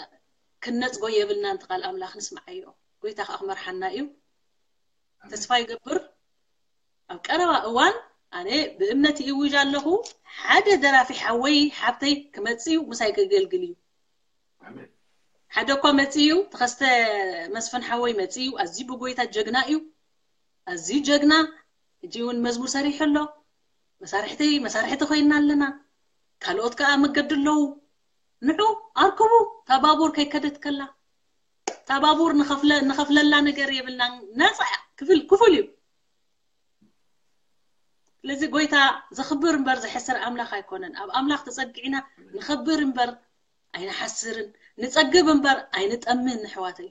ክነፅጎ የብልናን። እቲ ቃል ኣምላኽ ንስምዓዮ። ጎይታ ከዓ ክመርሓና እዩ። ተስፋ ይገብር ኣብ ቀረባ እዋን ኣነ ብእምነት ይእውጅ ኣለኹ፣ ሓደ ደራፊ ሓወይ ሓብተይ ክመፅእ እዩ፣ ምሳይ ከገልግል እዩ። ኣሜን። ሓደ እኳ መፅእ እዩ፣ ተኸስተ መስፍን ሓወይ መፅእ እዩ። ኣዝዩ ብጎይታ ጀግና እዩ፣ ኣዝዩ ጀግና። ሕጂ እውን መዝሙር ሰሪሑ ኣሎ። መሳርሕተይ መሳርሕቲ ኮይንና ኣለና። ካልኦት ከዓ መገዲ ኣለዉ። ንዑ ኣርክቡ። እታ ባቡር ከይከደት ከላ እታ ባቡር ንኸፍለ- ንኸፍለላ ነገር የብልናን። ነፃ እያ። ክፍል ክፉል እዩ። ስለዚ ጎይታ ዘኽብር እምበር ዘሕስር ኣምላኽ ኣይኮነን። ኣብ ኣምላኽ ተፀጊዕና ንኸብር እምበር ኣይንሓስርን፣ ንፀግብ እምበር ኣይንጠምን። ኣሕዋተይ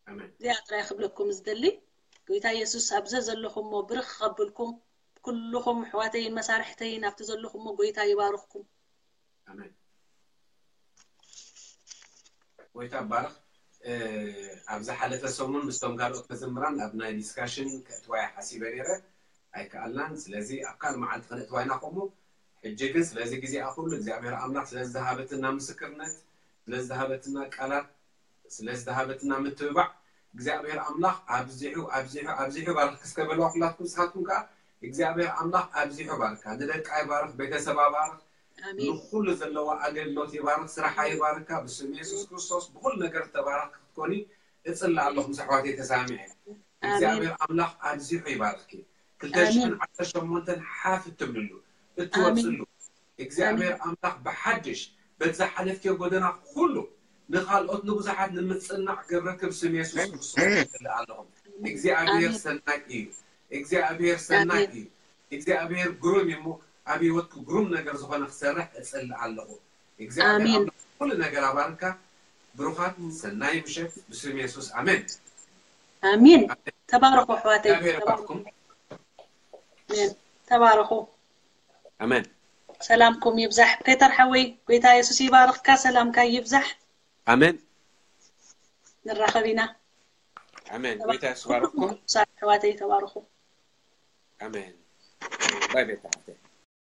ኣሜን። እዚኣ ጥራይ ክብለኩም ዝደሊ። ጎይታ የሱስ ኣብ ዘዘለኹሞ ብርኽ ከብልኩም። ኩልኹም ኣሕዋተይን መሳርሕተይን ኣብቲ ዘለኹሞ ጎይታ ይባርኽኩም። ኣሜን። ጎይታ ባርኽ። ኣብ ዝሓለፈ ሰሙን ምስቶም ካልኦት መዘምራን ኣብ ናይ ዲስካሽን ከእትዋያ ሓሲበ ነይረ ኣይከኣልናን። ስለዚ ኣብ ካልእ መዓልቲ ከነእትዋ ኢና። ከምኡ ሕጂ ግን ስለዚ ግዜኣ ኩሉ እግዚኣብሔር ኣምላኽ ስለ ዝሃበትና ምስክርነት፣ ስለ ዝሃበትና ቃላት፣ ስለ ዝሃበትና ምትብባዕ እግዚኣብሔር ኣምላኽ ኣብዚሑ ኣብዚሑ ኣብዚሑ ባርኽ። እስከ በልዋ ኩላትኩም ንስኻትኩም ከኣ እግዚኣብሔር ኣምላኽ ኣብዚሑ ባርካ። ንደቃ ይባርኽ፣ ቤተሰባ ባርኽ፣ ኣሜን። ንኹሉ ዘለዋ ኣገልግሎት ይባርኽ፣ ስራሓ ይባርካ። ብስም የሱስ ክርስቶስ ብኹሉ ነገር ተባረኽ። ክትኮኒ እጽሊ ኣለኹ። ምስ ኣሕዋተይ ተሳሚዐ እግዚኣብሔር ኣምላኽ ኣብዚሑ ይባርኽኪ። ክልተ ሽሕን ዓሰርተ ሸሞንተን ሓፍ እትብልሉ እትወፅሉ እግዚኣብሔር ኣምላኽ ብሓድሽ በቲ ዝሓለፍክዮ ጎደና ኩሉ ንኻልኦት ንብዙሓት ንምፅናዕ ገብረክብ ስም የሱስ ክርስቶስ እጽሊ ኣለኹ። እግዚኣብሔር ሰናይ እዩ። እግዚኣብሔር ሰናይ እዩ። እግዚኣብሔር ግሩም እዩ እሞ ኣብ ህይወትኩ ግሩም ነገር ዝኾነ ክሰርሕ እጽሊ ኣለኹ። እግዚኣብሔር ኣምላኽ ኩሉ ነገር ኣባርካ። ብሩኻት ሰናይ ምሸት ብስም የሱስ ኣሜን። ኣሜን። ተባረኹ ኣሕዋተይ። እግዚኣብሔር ይባርኩም። ኣሜን። ተባረኹ። ኣሜን። ሰላምኩም ይብዛሕ። ፔተር ሓወይ ጎይታ የሱስ ይባርኽካ። ሰላምካ ይብዛሕ። ኣሜን። ንራኸብ ኢና። ኣሜን። ጎይታ የሱስ ይባርኩም። ኣሕዋተይ ተባረኹ። ኣሜን። ባይ ቤታ ሓፍተይ።